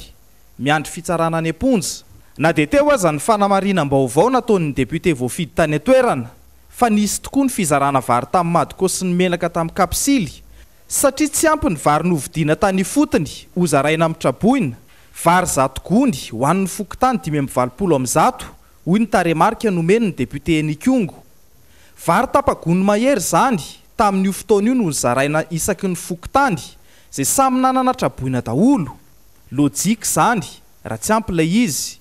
miandry fitsarana any am-ponja. Na dia teo aza ny fanamarinam-baovao nataon'ny député voafidy tany an-toerana, fa nisy tokoa ny fizarana vary tamin'ny madiko sy ny menaka tamin'ny kapsily, satria tsy ampy ny vary novidiana tany ifotony hozaraina amin'ny traboina, vary zato gony ho an'ny fokontany dimy amby valopolo amby zato, hoy ny tarehimarika nomen'ny député Nikongo. Vary tapa-gony mahery izany Tamin'io fotoana io no nozaraina isaky ny fokontany izay samy nanana traboina daholo. Lojika izany raha tsy ampy ilay izy.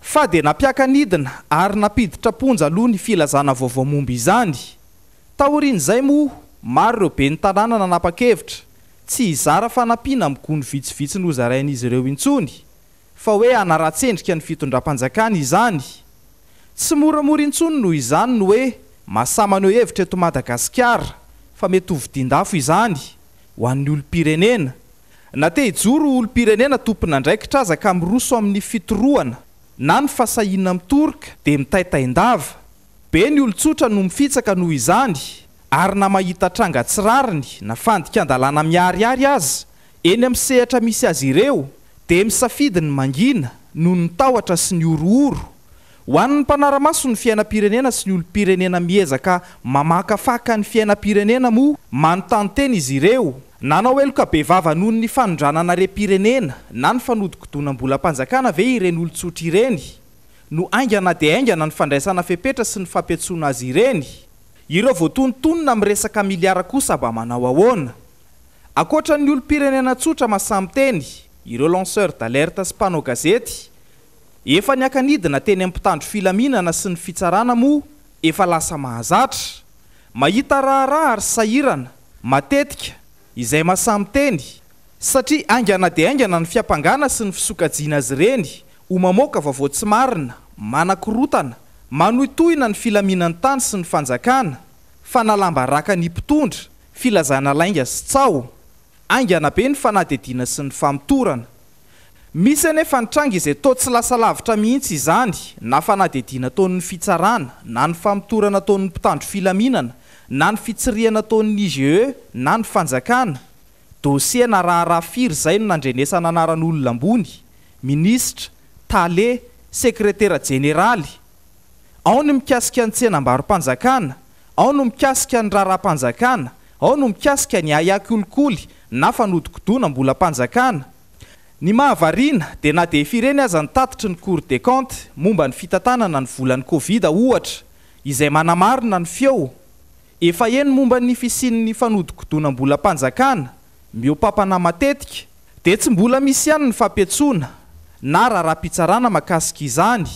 Fa dia nampiaka-nidina ary nampiditra am-ponja aloha ny filazana vaovao momba izany. Taorian'izay moa, maro ireo ben'ny tanàna nanapa-kevitra tsy hizara fanampiana amin'ny gony vitsivitsy nozarain'izy ireo intsony, fa hoe hanaratsy endrika ny fitondram-panjakana izany. Tsy moramora intsony noho izany ny hoe mahasahy maneho hevitra eto Madagasikara fa mety ho vidin-dafo izany ho an'ny olom-pirenena. Na te hijoro ho olom-pirenena tompon'andraikitra aza ka miroso amin'ny fitorohana na ny fahasahiana mitoroka dia mitaintain-dava. Be ny olon-tsotra no mifitsaka noho izany ary na mahita tranga tsy rariny na fandikan-dalàna miharihary aza eny amin'ny sehatra misy azy ireo dia misafidy ny mangina noho ny tahotra sy ny horohoro. Ho an'ny mpanara-maso ny fiainam-pirenena sy ny olom-pirenena miezaka mamakafaka ny fiainam-pirenena moa, manontany tena izy ireo. Nanao heloka bevava noho ny fanondranana harem-pirenena na ny fanodikodonam-bolam-panjakana ve ireny olon-tsotra ireny? No haingana dia haingana ny fandraisana fepetra sy ny fampiantsoana azy ireny? Ireo voatonontonona amin'ny resaka miliara kosa mba manao ahoana? Ankoatra ny olom-pirenena tsotra mahasahy miteny, ireo lanceurs d'alerte sy mpanao gazety, efa niaka-nidina teny amin'ny mpitandro filaminana sy ny fitsarana moa efa lasa mahazatra. Mahita raharaha ary sahirana, matetika, izay mahasahy miteny, satria haingana dia haingana ny fiampangana sy ny fisokajiana azy ireny ho mamoaka vaovao tsy marina, manakorotana, manohitohina ny filaminan'ny tany sy ny fanjakana, fanalam-baraka ny mpitondra, filazana lainga sy tsaho. Haingana be ny fanadihadiana sy ny famotorana. Misy anefa ny tranga izay toa tsy lasa lavitra mihitsy izany na fanadihadiana ataon'ny fitsarana, na ny famotorana ataon'ny mpitandro filaminana, na ny fitsirihana ataon'ny I G E na ny fanjakana. Dosie na raharaha firy izay no nandrenesana anaran'olona ambony, minisitra, tale, sekretera jeneraly. Ao ny mikasika ny tsenambaro-panjakana, ao no mikasika ny raharaham-panjakana, ao no mikasika ny ahiahy kolikoly na fanodikodonam-bolam-panjakana. Ny mahavariana dia na dia efa ireny aza ny tatitry ny Cour des comptes momba ny fitantanana ny volan'ny Covid ohatra, izay manamarina ny feo efa heno momba ny fisian'ny fanodikodonam-bolam-panjakana mihoa-pampana matetika, dia tsy mbola misy ihany ny fampiantsoana na raharaham-pitsarana mahakasika izany.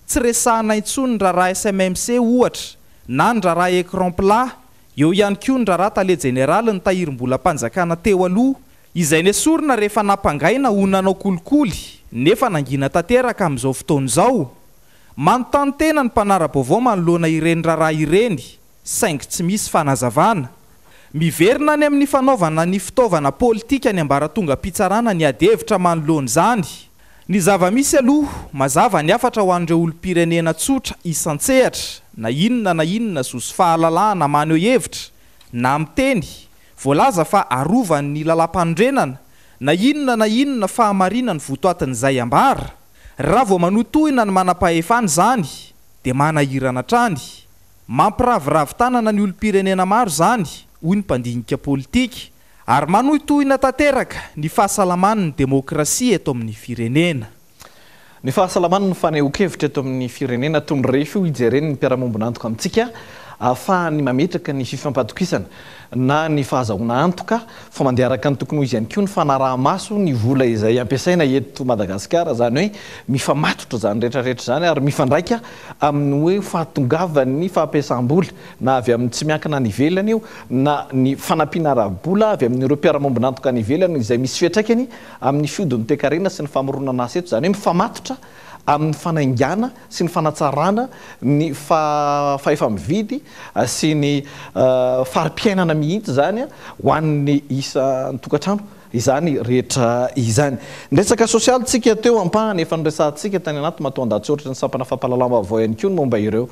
Tsy resahana intsony ny raharaha S M M C ohatra, na ny raharaha écran plat, eo ihany koa ny raharaha tale jeneraly ny tahirim-bolam-panjakana teo aloha, izay nesorina rehefa nampangaina ho nanao kolikoly nefa nangina tanteraka amin'izao fotoana izao. Manontany tena ny mpanara-baovao manoloana ireny raharaha ireny, saingy tsy misy fanazavana. Miverina any amin'ny fanaovana ny fitaovana politika ny ambaratongam-pitsarana ny ady hevitra manoloana izany. Ny zava-misy aloha, mazava ny hafatra ho an'ireo olom-pirenena tsotra isan-tsehatra, na inona na inona zo sy fahalalahana maneho hevitra, na miteny, voalaza fa arovan'ny lalàmpanorenana, na inona na inona fahamarinany votoatin'izay ambara. Raha vao manotohina ny manam-pahefana izany, dia manahirana hatrany. Mampiraviravy tanana ny olom-pirenena maro izany, hoy ny mpandinika politika, ary manohitohina tanteraka ny fahasalaman'ny demokrasia eto amin'ny firenena.
Ny fahasalaman'ny fanehoan-kevitra eto amin'ny firenena toy ny refy io hijeren'ny mpiara-mombon'antoka amintsika ahafahany mametraka ny fifampatokisana na ny fahazahoana antoka fa mandeha araka ny tokony ho izy ihany koa ny fanaraha-maso ny vola izay ampiasaina eto Madagasikara, izany hoe mifamatotra izany rehetrarehetra izany ary mifandraika amin'ny hoe fahatongavan'ny fampiasam-bola na avy amin'ny tsy miankina any ivelany io na ny fanampiana ara-bola avy amin'ireo mpiara-mombon'antoka any ivelany izay misy fiantraikany amin'ny fihodin'ny toekarena sy ny famoronana asa eto, izany hoe mifamatotra amin'ny fanaingana sy ny fanatsarana ny fahefa-mividy sy ny fari-piainana mihitsy izany ho an'ny isan-tokantrano izany rehetra izany. Ny resaka sosialy tsika teo ampahany efa noresahantsika tany anaty matoandahatsoratra ny sampana fampahalalam-baovao ihany koa ny momba ireo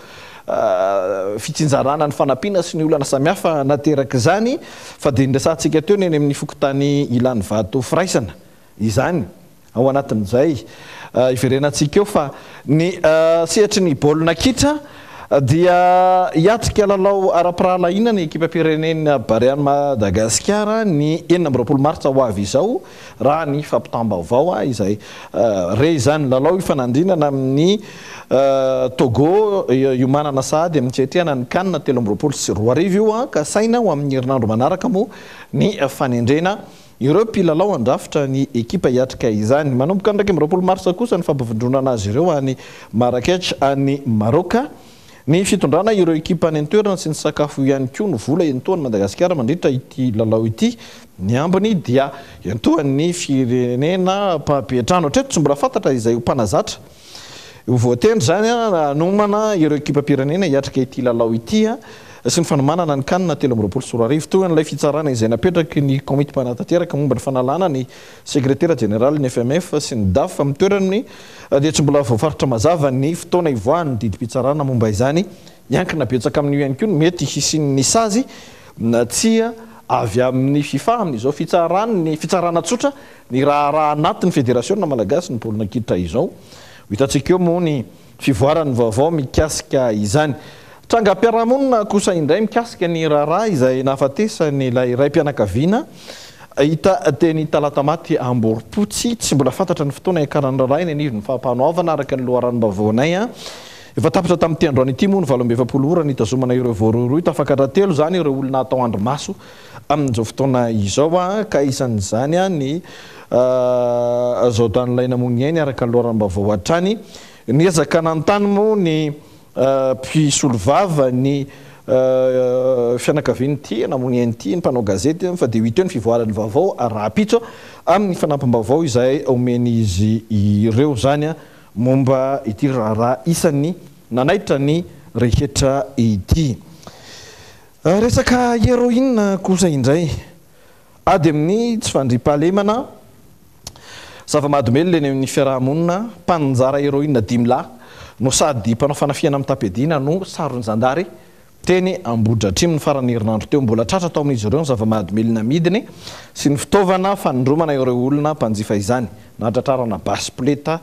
fitsinjarana ny fanampiana sy ny olana samihafa nateraka izany, fa dia noresahantsika teo ny eny amin'ny fokontany Ilanivato Firaisana izany. Ao anatin'izay iverenantsika eo fa ny sehatry ny baolina kitra Dia hiatrika lalao ara-pirahalahiana ny ekipam-pirenena Barean'i Madagasikara ny enina amby roapolo martsa ho avy izao, raha ny fampitam-baovao izay re izany. Lalao ifanandrinana amin'ny Togo iomanana sahady amin'ny fiatrehana ny CAN telo amby roapolo sy roa arivo io, ka saina ho amin'ny herinandro manaraka moa ny fanendrena ireo mpilalao andrafitra ny ekipa hiatrika izany. Manomboka ny iraika amby roapolo martsa kosa ny fampivondronana azy ireo any Marrakech any Maroka. Ny fitondrana ireo ekipa any an-toerana sy ny sakafo ihany koa no vola entohan'i Madagasikara mandritra ity lalao ity. Ny ambiny dia entohan'ny firenena mpampiantrano. Hatreto tsy mbola fantatra izay ho mpanazatra ho voatendry izany hanomana ireo ekipam-pirenena hiatrika ity lalao ity sy ny fanomanana ny CAN telo amby roapolo sy roa arivo. Toy an'ilay fitsarana izay napetraky ny komity mpanatanteraka momba ny fanalana ny sekretera jeneralin'ny F M F sy ny D A F amin'ny toerany dia tsy mbola voafaritra mazava ny fotoana ivoahan'ny didim-pitsarana momba izany. Miankina betsaka amin'io ihany koa ny mety hisian'ny sazy na tsia avy amin'ny FIFA amin'izao fitsaran'ny fitsarana tsotra ny raharaha anatin'ny federasiona malagasy ny baolina kitra izao. Ho hitantsika eo moa ny fivoaran'ny vaovao mikasika izany. Trangam-piarahamonina kosa indray mikasika ny raharaha izay nahafatesany ilay raim-pianakaviana hita teny Talatamaty Amborompotsy. Tsy mbola fantatra ny fotoana hiakaran'ny raharaha eny anivon'ny fampanoavana araka ny loharanom-baovaonay. Efa tapitra tamin'ity androany ity moa ny valo amby efapolo ora nitazomana ireo voarohirohy. Tafakatra telo izany ireo olona atao andrimaso amin'izao fotoana izao, ka isan'izany ny zaodan'ilay namono ny ainy araka ny loharanom-baovao hatrany. Niezaka nanontany moa ny mpisolovava ny fianakaviany ity namono ny ainy ity, ny mpanao gazety, fa dia ho hita eo ny fivoaran'ny vaovao rahampitso amin'ny fanampim-baovao izay omen'izy ireo izany momba ity raharaha isan'ny nanaitra ny rehetra ity. Resaka héroïne kosa indray, ady amin'ny tsy fandriampahalemana, zava-mahadomelina eny amin'ny fiarahamonina, mpaninjara héroïne dimy lahy no sady mpanao fanafihana amin'ny tapiadiana no saron'ny zandary teny Ambohidratrimo ny faran'ny herinandro teo. Mbola tratra tao amin'izy ireo ny zava-mahadomelina amidiny sy ny fitaovana fanindromana ireo olona mpanjifa izany. Nahatratrarana basy poleta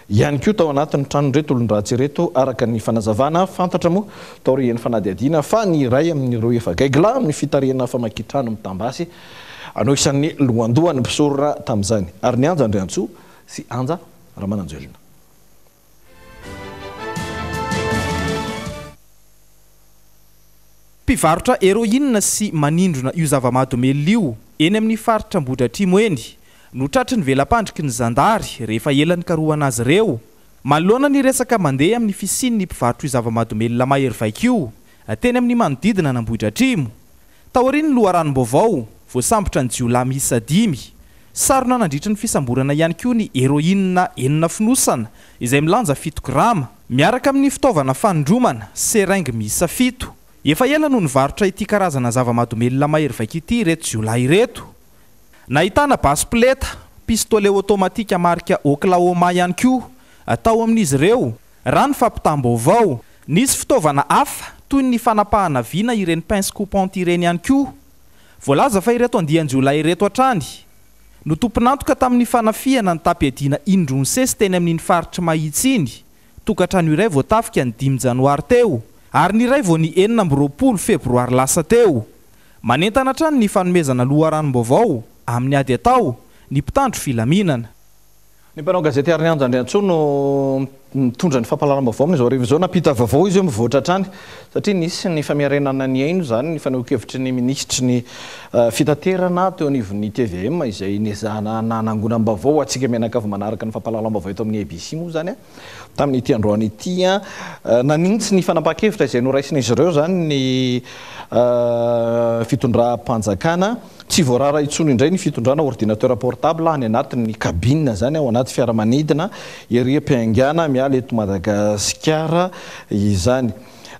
ihany koa tao anatin'ny tranon'ireto olon-dratsy ireto araka ny fanazavana. Fantatra moa taorian'ny fanadihadiana fa ny iray amin'ireo efa gaigila amin'ny fitarihana famakian-trano mitambasy no isan'ny lohandohan'ny mpisorona tamin'izany, ary ny Anja Andriantsoa sy Anja Ramananjoelina.
Mpivarotra héroïne sy manindrona io zava-mahadomelina io eny amin'ny faritra Ambohidratrimo eny no tratry ny vela-pandriky ny zandary rehefa ela nikarohana azy ireo. Manoloana ny resaka mandeha amin'ny fisian'ny mpivarotra io zava-mahadomelina mahery vaika io teny amin'ny manodidina an'Ambohidratrimo. Taorian'ny loharanom-baovao, voasambotra ny jiolahy miisa dimy. Sarona nandritra ny fisamborana ihany koa ny héroïne enina fonosana izay milanja fito grama miaraka amin'ny fitaovana fanindromana seringue miisa fito. Efa ela no nivarotra ity karazana zava-mahadomelina mahery vaika ity ireto jiolahy ireto. Nahitana basy poleta, pistolet automatique marika Oklahoma ihany koa atao amin'izy ireo. Raha ny fampitam-baovao, nisy fitaovana hafa toy ny fanapahana vina ireny pince coupante ireny ihany koa. Voalaza fa ireto andian-jiolahy ireto hatrany no tompon'antoka tamin'ny fanafihana ny tapiadiana indroa nisesy teny amin'iny faritry Mahitsy iny. Tokantrano iray voatafika ny dimy janoary teo ary ny iray vao ny enina amby roapolo febroary lasa teo. Manentana hatrany ny fanomezana loharanom-baovao amin'ny ady atao ny mpitandro filaminana.
Ny mpanao gazety Ary Anja Andriantsoa no mitondra ny fampahalalam-baovao amin'izao hariva izao. Nampita vaovao izy io mivoatra hatrany satria nisy ny famerenana ny haino izany ny fanehoan-kevitry ny minisitry ny fitaterana teo anivon'ny T V M izay nezahana nanangonam-baovao antsika mianakavy manaraka ny fampahalalam-baovao eto amin'ny A B C moa izany tamin'ity androany ity. Nanintsy ny fanapahan-kevitra izay noraisin'izy ireo izany ny fitondram-panjakana. Tsy voarara intsony indray ny fitondrana ordinateur portable any anatin'ny cabine izany ao anaty fiaramanidina ery am-piaingàna miala eto Madagasikara izany.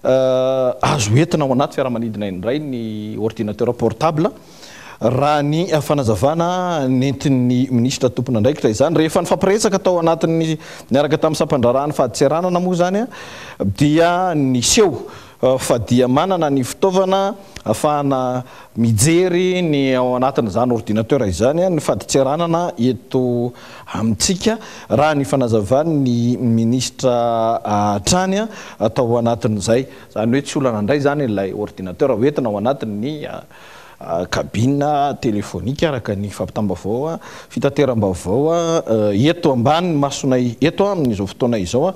Azo entina ao anaty fiaramanidina indray ny ordinateur portable raha ny fanazavana nentin'ny minisitra tompon'andraikitra izany. Rehefa nifampiresaka tao anatin'ny niaraka tamin'ny sampandraharahan'ny fadintseranana moa izany dia niseho fa dia manana ny fitaovana ahafahana mijery ny ao anatin'izany ordinateur izany ny fadintseranana eto amintsika, raha ny fanazavan'ny minisitra hatrany atao anatin'izay. Izany hoe tsy olana indray izany ilay ordinateur hoentina ao anatin'ny cabine téléphonique araka ny fampitam-baovao, fitateram-baovao eto ambany masonay eto amin'izao fotoana izao.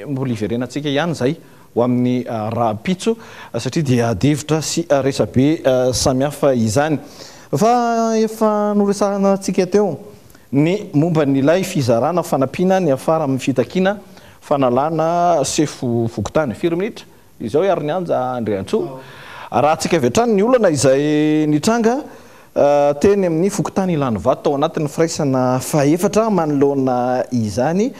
Mbola hiverenantsika ihany izay ho amin'ny rahampitso satria dia adihevitra sy resabe samihafa izany. Fa efa noresahantsika teo ny momba n'ilay fizarana fanampiana ny afara amin'ny fitakiana fanalana sefo fokontany. Firy minitra izao ary ny Anja Andriantsoa. Raha antsika avy hatrany ny olana izay nitranga teny amin'ny fokontany Ilanivato tao anatin'ny firaisana fahefatra manoloana izany,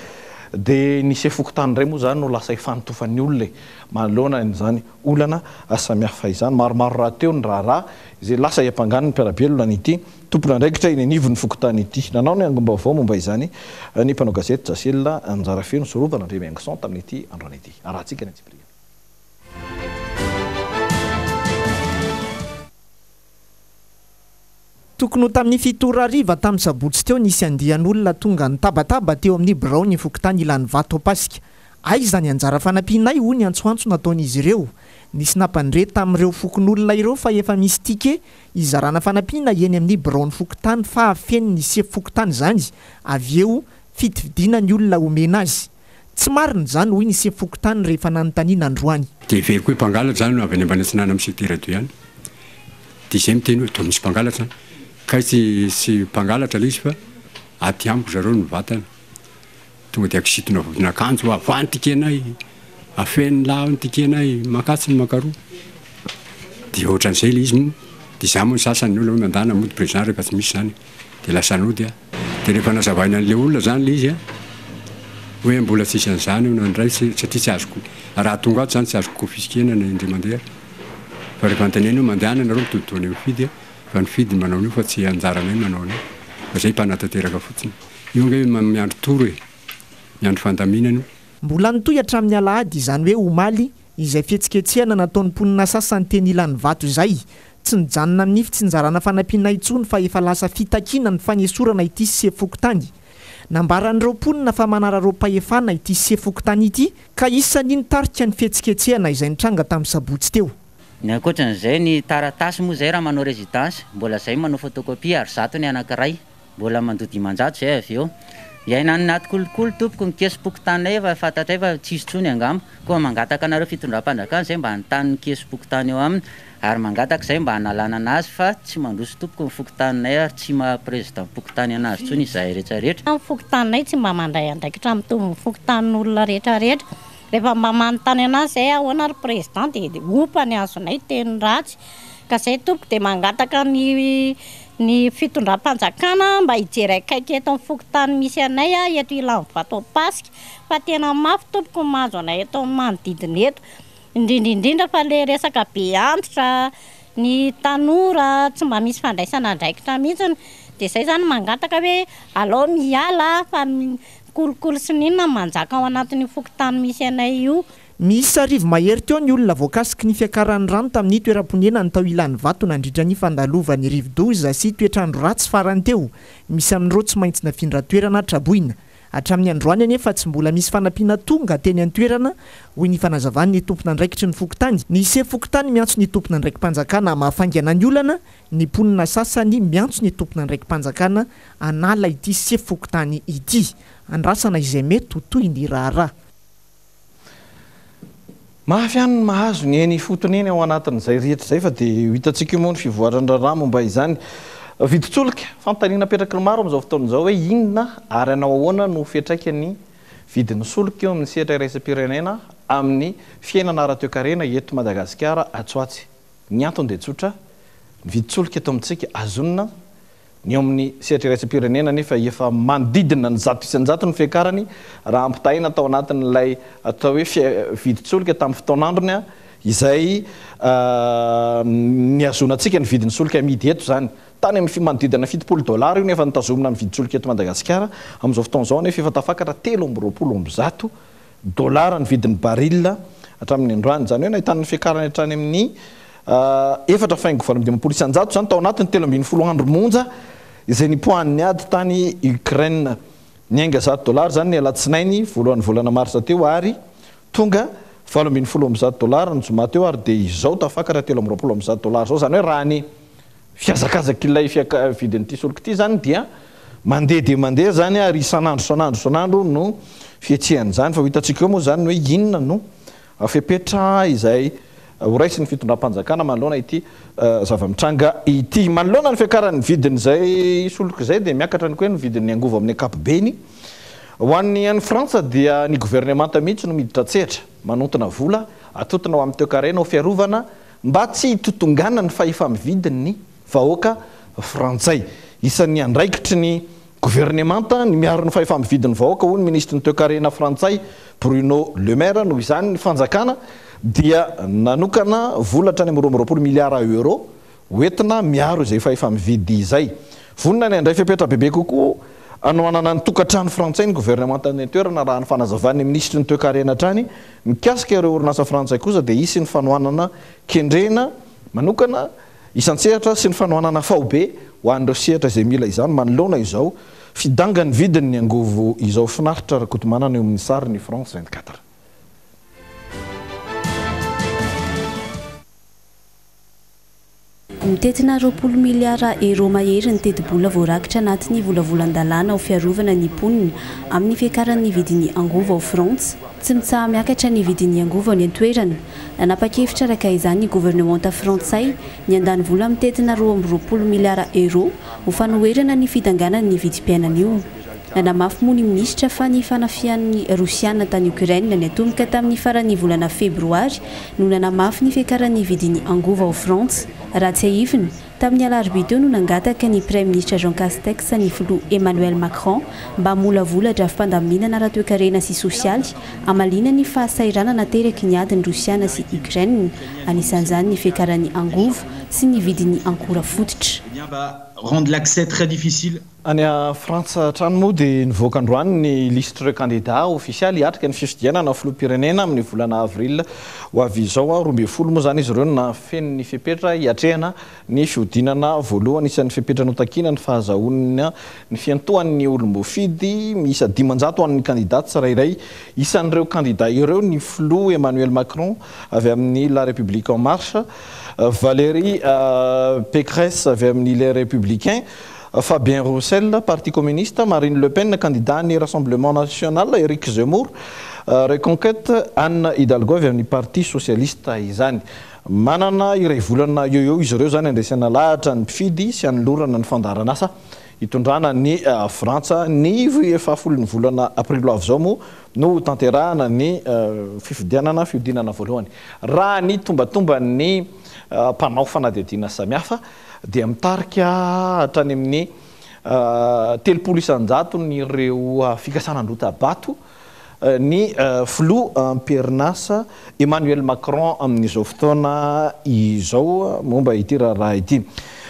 dia ny sefo fokontany indray moa izany no lasa ifantofan'ny olona manoloana izany olana samihafa izany. Maromaro rahateo ny raharaha izay lasa iampangan'ny mpiara-belona an'ity tompon'andraikitra eny anivon'ny fokontany ity. Nanao ny angom-baovao momba izany ny mpanao gazety Jasela Anjarafeno Sorovana Andriamiaingson tamin'ity androany ity. Arahantsika ny antsipiriany.
Tokony ho tamin'ny fito ora hariva tamin'ny sabotsy teo nisy andian'olona tonga nitabataba teo amin'ny birao ny fokontany Ilanivato Ampasika. Aiza ny anjara fanampianay, hoy ny antsoantso nataon'izy ireo. Nisy nampandre tamin'ireo fokonolona ireo fa efa misy ticket izarana fanampiana eny amin'ny birao ny fokontany fa feno ny sefo fokontany izany, avy eo fitifidiana ny olona omena azy. Tsy marina izany, hoy ny sefo fokontany rehefa nanontaniana androany.
Dia heveriko hoe mpangalatra izany no avy any ambany atsinanana amin'ny secteur deux ihany. Dia izay miteny hoe toa misy mpangalatra izany. Ka tsy tsy mpangalatra ilay izy fa aty amiko zareo no vatana. Tonga dia akisitona akanjo, avoahy ny ticket-nay, afeniny lahy ny ticket-nay, mankatsy ny mankaroa. Dia ohatran'izay ilay izy moa. Dia izaho moa ny sasany ny olona hoe mandana mody président rehefa tsy misy izany. Dia lasa nody aho. Dia rehefa nazavaina an'ilay olona izany ilay izy a, hoe mbola tsisy an'izany io nandray satria tsy azoko. Raha tonga ato izany tsy azoko confisquena na indray mandeha. Fa rehefa anontaniana hoe mandehana ianareo mitoditoana eo mifidy a, fa ny fidy manao an'io fa tsy anjaranay manao an'io. Fa izay mpanatanteraka fotsiny. Io ange miandry toro e, miandry fandaminana io.
Mbola nitohy hatramin'ny alahady izany hoe omaly izay fihetsiketsehana nataon'ny mponina sasany teny Ilanivato izay. Tsy nijanona amin'ny fitsinjarana fanampiana intsony fa efa lasa fitakiana ny fanesorana ity sefo fokontany. Nambaran'ireo mponina fa manararaom-pahefana ity sefo fokontany ity ka isan'ny nitarika ny fihetsiketsehana izay nitranga tamin'ny sabotsy teo.
Ny ankoatran'izay ny taratasy moa izay raha manao résidence mbola izay manao photocopie ary zato ny anankiray, mbola mandoa dimanjato izay avy eo. Iainany anaty kolikoly tompoko ny kesim-pokontany efa fantatray fa tsisy intsony angamba. Koa mangataka anareo fitondram-panjakana izay mba hanontany ny kesim-pokontany eo aminy ary mangataka izay mba hanalana anazy fa tsy mandroso tompoko ny fokontaninay ary tsy maha président fokontany anazy intsony izahay rehetrarehetra.
Ny fokontaninay tsy mba mandray andraikitra mitovy ny fokontanin'olona rehetrarehetra. Rehefa mba manontany anazy izay ahoana ry président dia opa ny azonay teny ratsy. Ka izay tompoko dia mangataka ny ny fitondram-panjakana mba hijery akaiky eto amin'ny fokontany misy anay a, eto Ilanivato Ampasika fa tena mafy tompoko ny mahazo anay eto amin'ny manodidina eto. Indrindra indrindra fa le resaka be antitra, ny tanora tsy mba misy fandraisana andraikitra mihitsiny. Dia izay izany mangataka hoe alao miala fa kolikoly sy n'inona manjaka ao anatin'io fokontany misy anay io.
Misy arivo mahery teo ny olona voakasiky ny fiakaran'ny rano tamin'ny toeram-ponenany tao Ilanivato nandritra ny fandalovan'ny rivodoza sy toetr'andro ratsy farany teo. Misy amin'ireo tsy maintsy nafindra toerana traboina. Hatramin'ny androany anefa tsy mbola misy fanampiana tonga teny an-toerana, hoy ny fanazavan'ny tompon'andraikitry ny fokontany. Ny sefo fokontany miantso ny tompon'andraiki-panjakana mahafaingana ny olana, ny mponina sasany miantso ny tompon'andraiki-panjakana hanala ity sefo fokontany ity. Andrasana izay mety ho toy ny raharaha.
Mafy ihany ny mahazo ny eny ifotony eny ao anatin'izay rehetra izay fa dia ho hitantsika io moa ny fivoaran'ny raharaha momba izany. Vidin-tsolika, fanontaniana apetraky ny maro amin'izao fotoana izao hoe inona ary hanao ahoana no fiantraikan'ny vidin'ny solika eo amin'ny sehatra iraisam-pirenena amin'ny fiainana ara-toekarena eto Madagasikara atsoatsy. Ny antony dia tsotra, ny vidin-tsolika eto amintsika azonina, ny eo amin'ny sehatra iraisam-pirenena nefa efa manodidina ny zato isan-jato ny fiakarany raha ampitahaina tao anatin'ilay atao hoe vidin-tsolika tamin'ny fotoan'androny izay nihazonantsika ny vidin'ny solika amidy eto izany. Tany amin'ny manodidina fitopolo dolara io nefa nitazomina ny vidin-tsolika eto Madagasikara. Amin'izao fotoana izao nefa efa tafakatra telo amby roapolo amby zato dolara ny vidin'ny baril hatramin'ny androany. Izany hoe nahitana ny fiakarany hatrany amin'ny efatra faingo valo amby dimampolo isan-jato izany tao anatin'ny telo ambin'ny folo andro monja izay nipoahan'ny ady tany Ukraine. Niainga zato dolara izany ny alatsinainy voalohan'ny volana marsa teo ary tonga valo ambin'ny folo amby zato dolara ny zoma teo ary dia izao tafakatra telo amby roapolo amby zato dolara izao. Izany hoe raha ny fihazakazaka ilay fiaka- vidin'ity solika ity izany dia mandeha dia mandeha izany ary isan'andro isan'andro isan'andro no fihetsehan'izany. Fa ho hitantsika eo moa izany hoe inona no fepetra izay horaisin'ny fitondram-panjakana manoloana ity zava-mitranga ity. Manoloana ny fiakaran'ny vidin'izay solika izay dia miakatra ny koa ny vidin'ny angovo amin'ny ankapobeny. Ho an'ny any Frantsa dia ny governemanta mihitsy no miditra an-tsehatra manontona vola atotona ho amin'ny toekarena ho fiarovana mba tsy hitotongana ny fahefa-mividin'ny vahoaka frantsay. Isan'ny andraikitry ny governemanta ny miaro ny fahefa-mividin'ny vahoaka, hoy ny minisitry ny toekarena frantsay Bruno Le Maire. Noho izany ny fanjakana dia nanokana vola hatrany amin'ny roa amby roapolo miliara euro hoentina miaro izay fahefa-mividy izay. Vonona ny handray fepetra bebe kokoa hanohanana ny tokantrano frantsay ny governemanta any an-toerana, raha ny fanazavan'ny minisitry ny toekarena hatrany. Mikasika ireo orinasa frantsay kosa dia hisy ny fanohanana kendrena manokana isan-tsehatra sy ny fanohanana faobe ho an'ireo sehatra izay mila izany manoloana izao fidangan'ny vidin'ny angovo izao. Finaritra Rakotomanana eo amin'ny sary ny France vingt-quatre.
Mitentina roapolo miliara euro mahery ny tetibola voarakitra anatin'ny volavolan-dalàna ho fiarovana ny mponina amin'ny fiakaran'ny vidin'ny angovo ao Frantsa. Tsy mitsaha-miakatra ny vidin'ny angovo any an-toerana. Nanapa-kevitra araka izany ny governemanta frantsay ny handany vola mitentina roa amby roapolo miliara euro ho fanoherana ny fidanganan'ny vidim-piainana io. Nanamafy moa ny minisitra fa ny fanafihan'ny Rosiana tany Ukraine niatomboka tamin'ny faran'ny volana febroary no nanamafy ny fiakaran'ny vidin'ny angovo ao Frantsa. Raha tsiahivina, tamin'ny alarobia teo no nangataka ny Praiminisitra Jean Castex ny filoha Emmanuel Macron mba hamolavola drafi-pandaminana ara-toekarena sy sosialy hamaliana ny fahasahiranana nateraky ny adin'ny Rosiana sy Ukraine, anisan'izany ny fiakaran'ny angovo sy ny vidin'ny ankora fototra.
Rendre l'accès très difficile.
Any Frantsa hatrany moa dia nivoaka androany ny lisitr'ireo kandida ofisialy hiatrika ny fifidianana filoham-pirenena amin'ny volana avril ho avy izao. Roa ambin'ny folo moa izany izy ireo no nahafeno ny fepetra hiatrehana ny fihodinana voalohany. Isan'ny fepetra notakina ny fahazahoana ny fiantohan'ny olom-boafidy miisa dimanjato ho an'ny kandida tsirairay. Isan'ireo kandida ireo ny filoha Emmanuel Macron avy amin'ny La République en Marche, Valérie Pécresse avy amin'ny Les Républicains, Fabien Roussel, Parti communiste, Marine Le Pen, candidat ny Rassemblement National, Éric Zemmour, Reconquête, Anne Hidalgo avy amin'ny Parti Socialiste izany. Manana iray volana eo eo izy ireo izany andresena lahatra ny mpifidy sy anolorana ny fandaharanasa hitondrana ny Frantsa. Ny fahafolon'ny volana aprily ho avy izao moa no tanterahana ny fifidianana fihodinana voalohany. Raha ny tombatomban'ny mpanao fanadihadiana samihafa dia mitarika hatrany amin'ny telopolo isan-jatony ireo fikasana androta-bato ny filoha am-perinasa Emmanuel Macron amin'izao fotoana izao momba ity raharaha ity.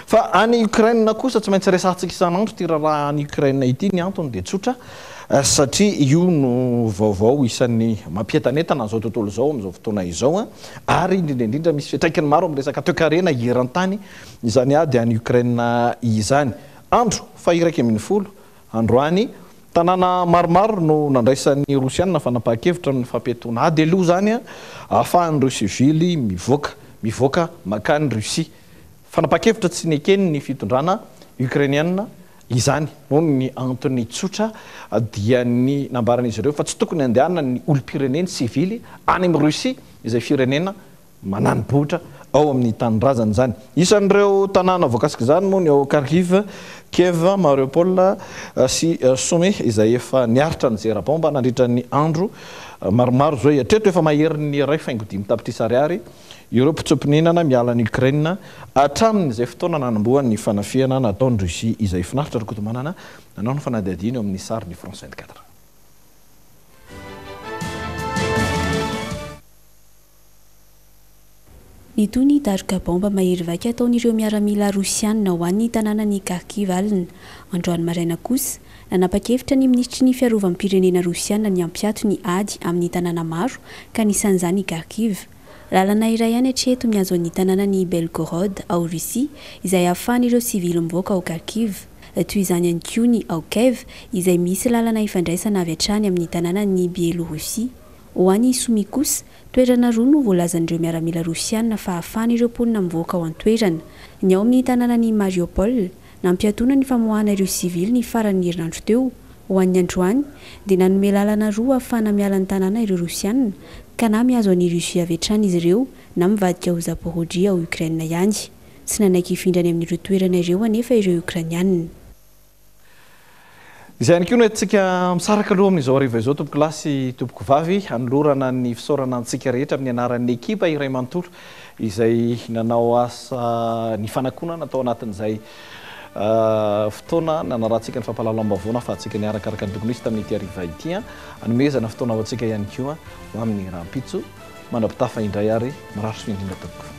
Fa any Ukraine kosa tsy maintsy resahantsika isan'andro ity raharaha any Ukraine ity. Ny antony dia tsotra satria io no vaovao isan'ny mampientanentana an'izao tontolo izao amin'izao fotoana izao, ary indrindra indrindra misy fiantraikany maro amin'ny resaka toekarena eran-tany izany ady any Ukraine izany. Andro faha-iraika ambin'ny folo androany, tanàna maromaro no nandraisan'ny Rosiana fanapahan-kevitra amin'ny fampiatoana ady aloha izany ahafahan'ireo sivily mivoaka mivoaka mankany Russie. Fanapahan-kevitra tsy nekeny ny fitondrana ukrainiana izany noho ny antony tsotra dia ny nambaran'izy ireo fa tsy tokony handehanana ny olom-pireneny sivily any amin'ny Russie izay firenena manani-bohitra ao amin'ny tanindrazana izany. Isan'ireo tanàna voakasika izany moa ny ao Kharkiv, Kiev, Mariupol sy Soumy izay efa niaritra ny zera bomba nandritra ny andro maromaro izao. Hatreto efa maherin'ny iray faingo dimy tapitrisa ariary ireo mpitsoa-ponenana miala any Ukraine hatramin'izay fotoana nanombohan'ny fanafihana nataon'i Russie izay. Finaritra Rakotomanana nanao ny fanadihadiana eo amin'ny sary ny France vingt-quatre.
Nitohy ny daroka baomba mahery vaika ataon'ireo miaramila rosianina ho an'ny tanànan'i Kharkiv alina. Androany maraina kosa, nanapa-kevitra ny minisitry ny fiarovam-pirenena rosianina ny hampiato ny ady amin'ny tanàna maro ka anisan'izany i Kharkiv. Lalana iray ihany hatreto mihazo ny tanànan'i Belgorod ao Russie izay ahafahan'ireo sivily mivoaka ao Kharkiv. Toy izany ihany koa ny ao Kiev izay misy lalana ifandraisana avy hatrany amin'ny tanànan'i Biélorussie. Ho an'i Soumy kosa, toerana roa no voalazan'ireo miaramila rosianina fa ahafahan'ireo mponina mivoaka ao an-toerana. Ny ao amin'ny tanànan'i Mariupol, nampiatoana ny famoahana ireo sivily ny faran'ny herinandro teo. Ho an'ny androany, dia nanome lalana roa ahafahana miala ny tanàna ireo rosianina, ka na mihazo an'i Russie avy hatrany izy ireo na mivadika ho Zaporozhye ao Ukraine ihany. Tsy nanaiky hifindra any amin'ireo toerana ireo anefa ireo Ukrainianina.
Izay ihany koa no entintsika misaraka aloha amin'izao hariva izao, tompoko lahy sy tompoko vavy, anolorana ny fisaorana antsika rehetra amin'ny anaran'ny ekipa iray manontolo izay nanao asa ny fanakonana tao anatin'izay fotoana nanarahantsika ny fampahalalam-baovao nahafahantsika niarakaraka ny tokony hisy tamin'ity hariva ity. Anomezana fotoana ho antsika ihany koa ho amin'ny rahampitso mandra-pitafa indray ary mirary soa indrindra tompoko.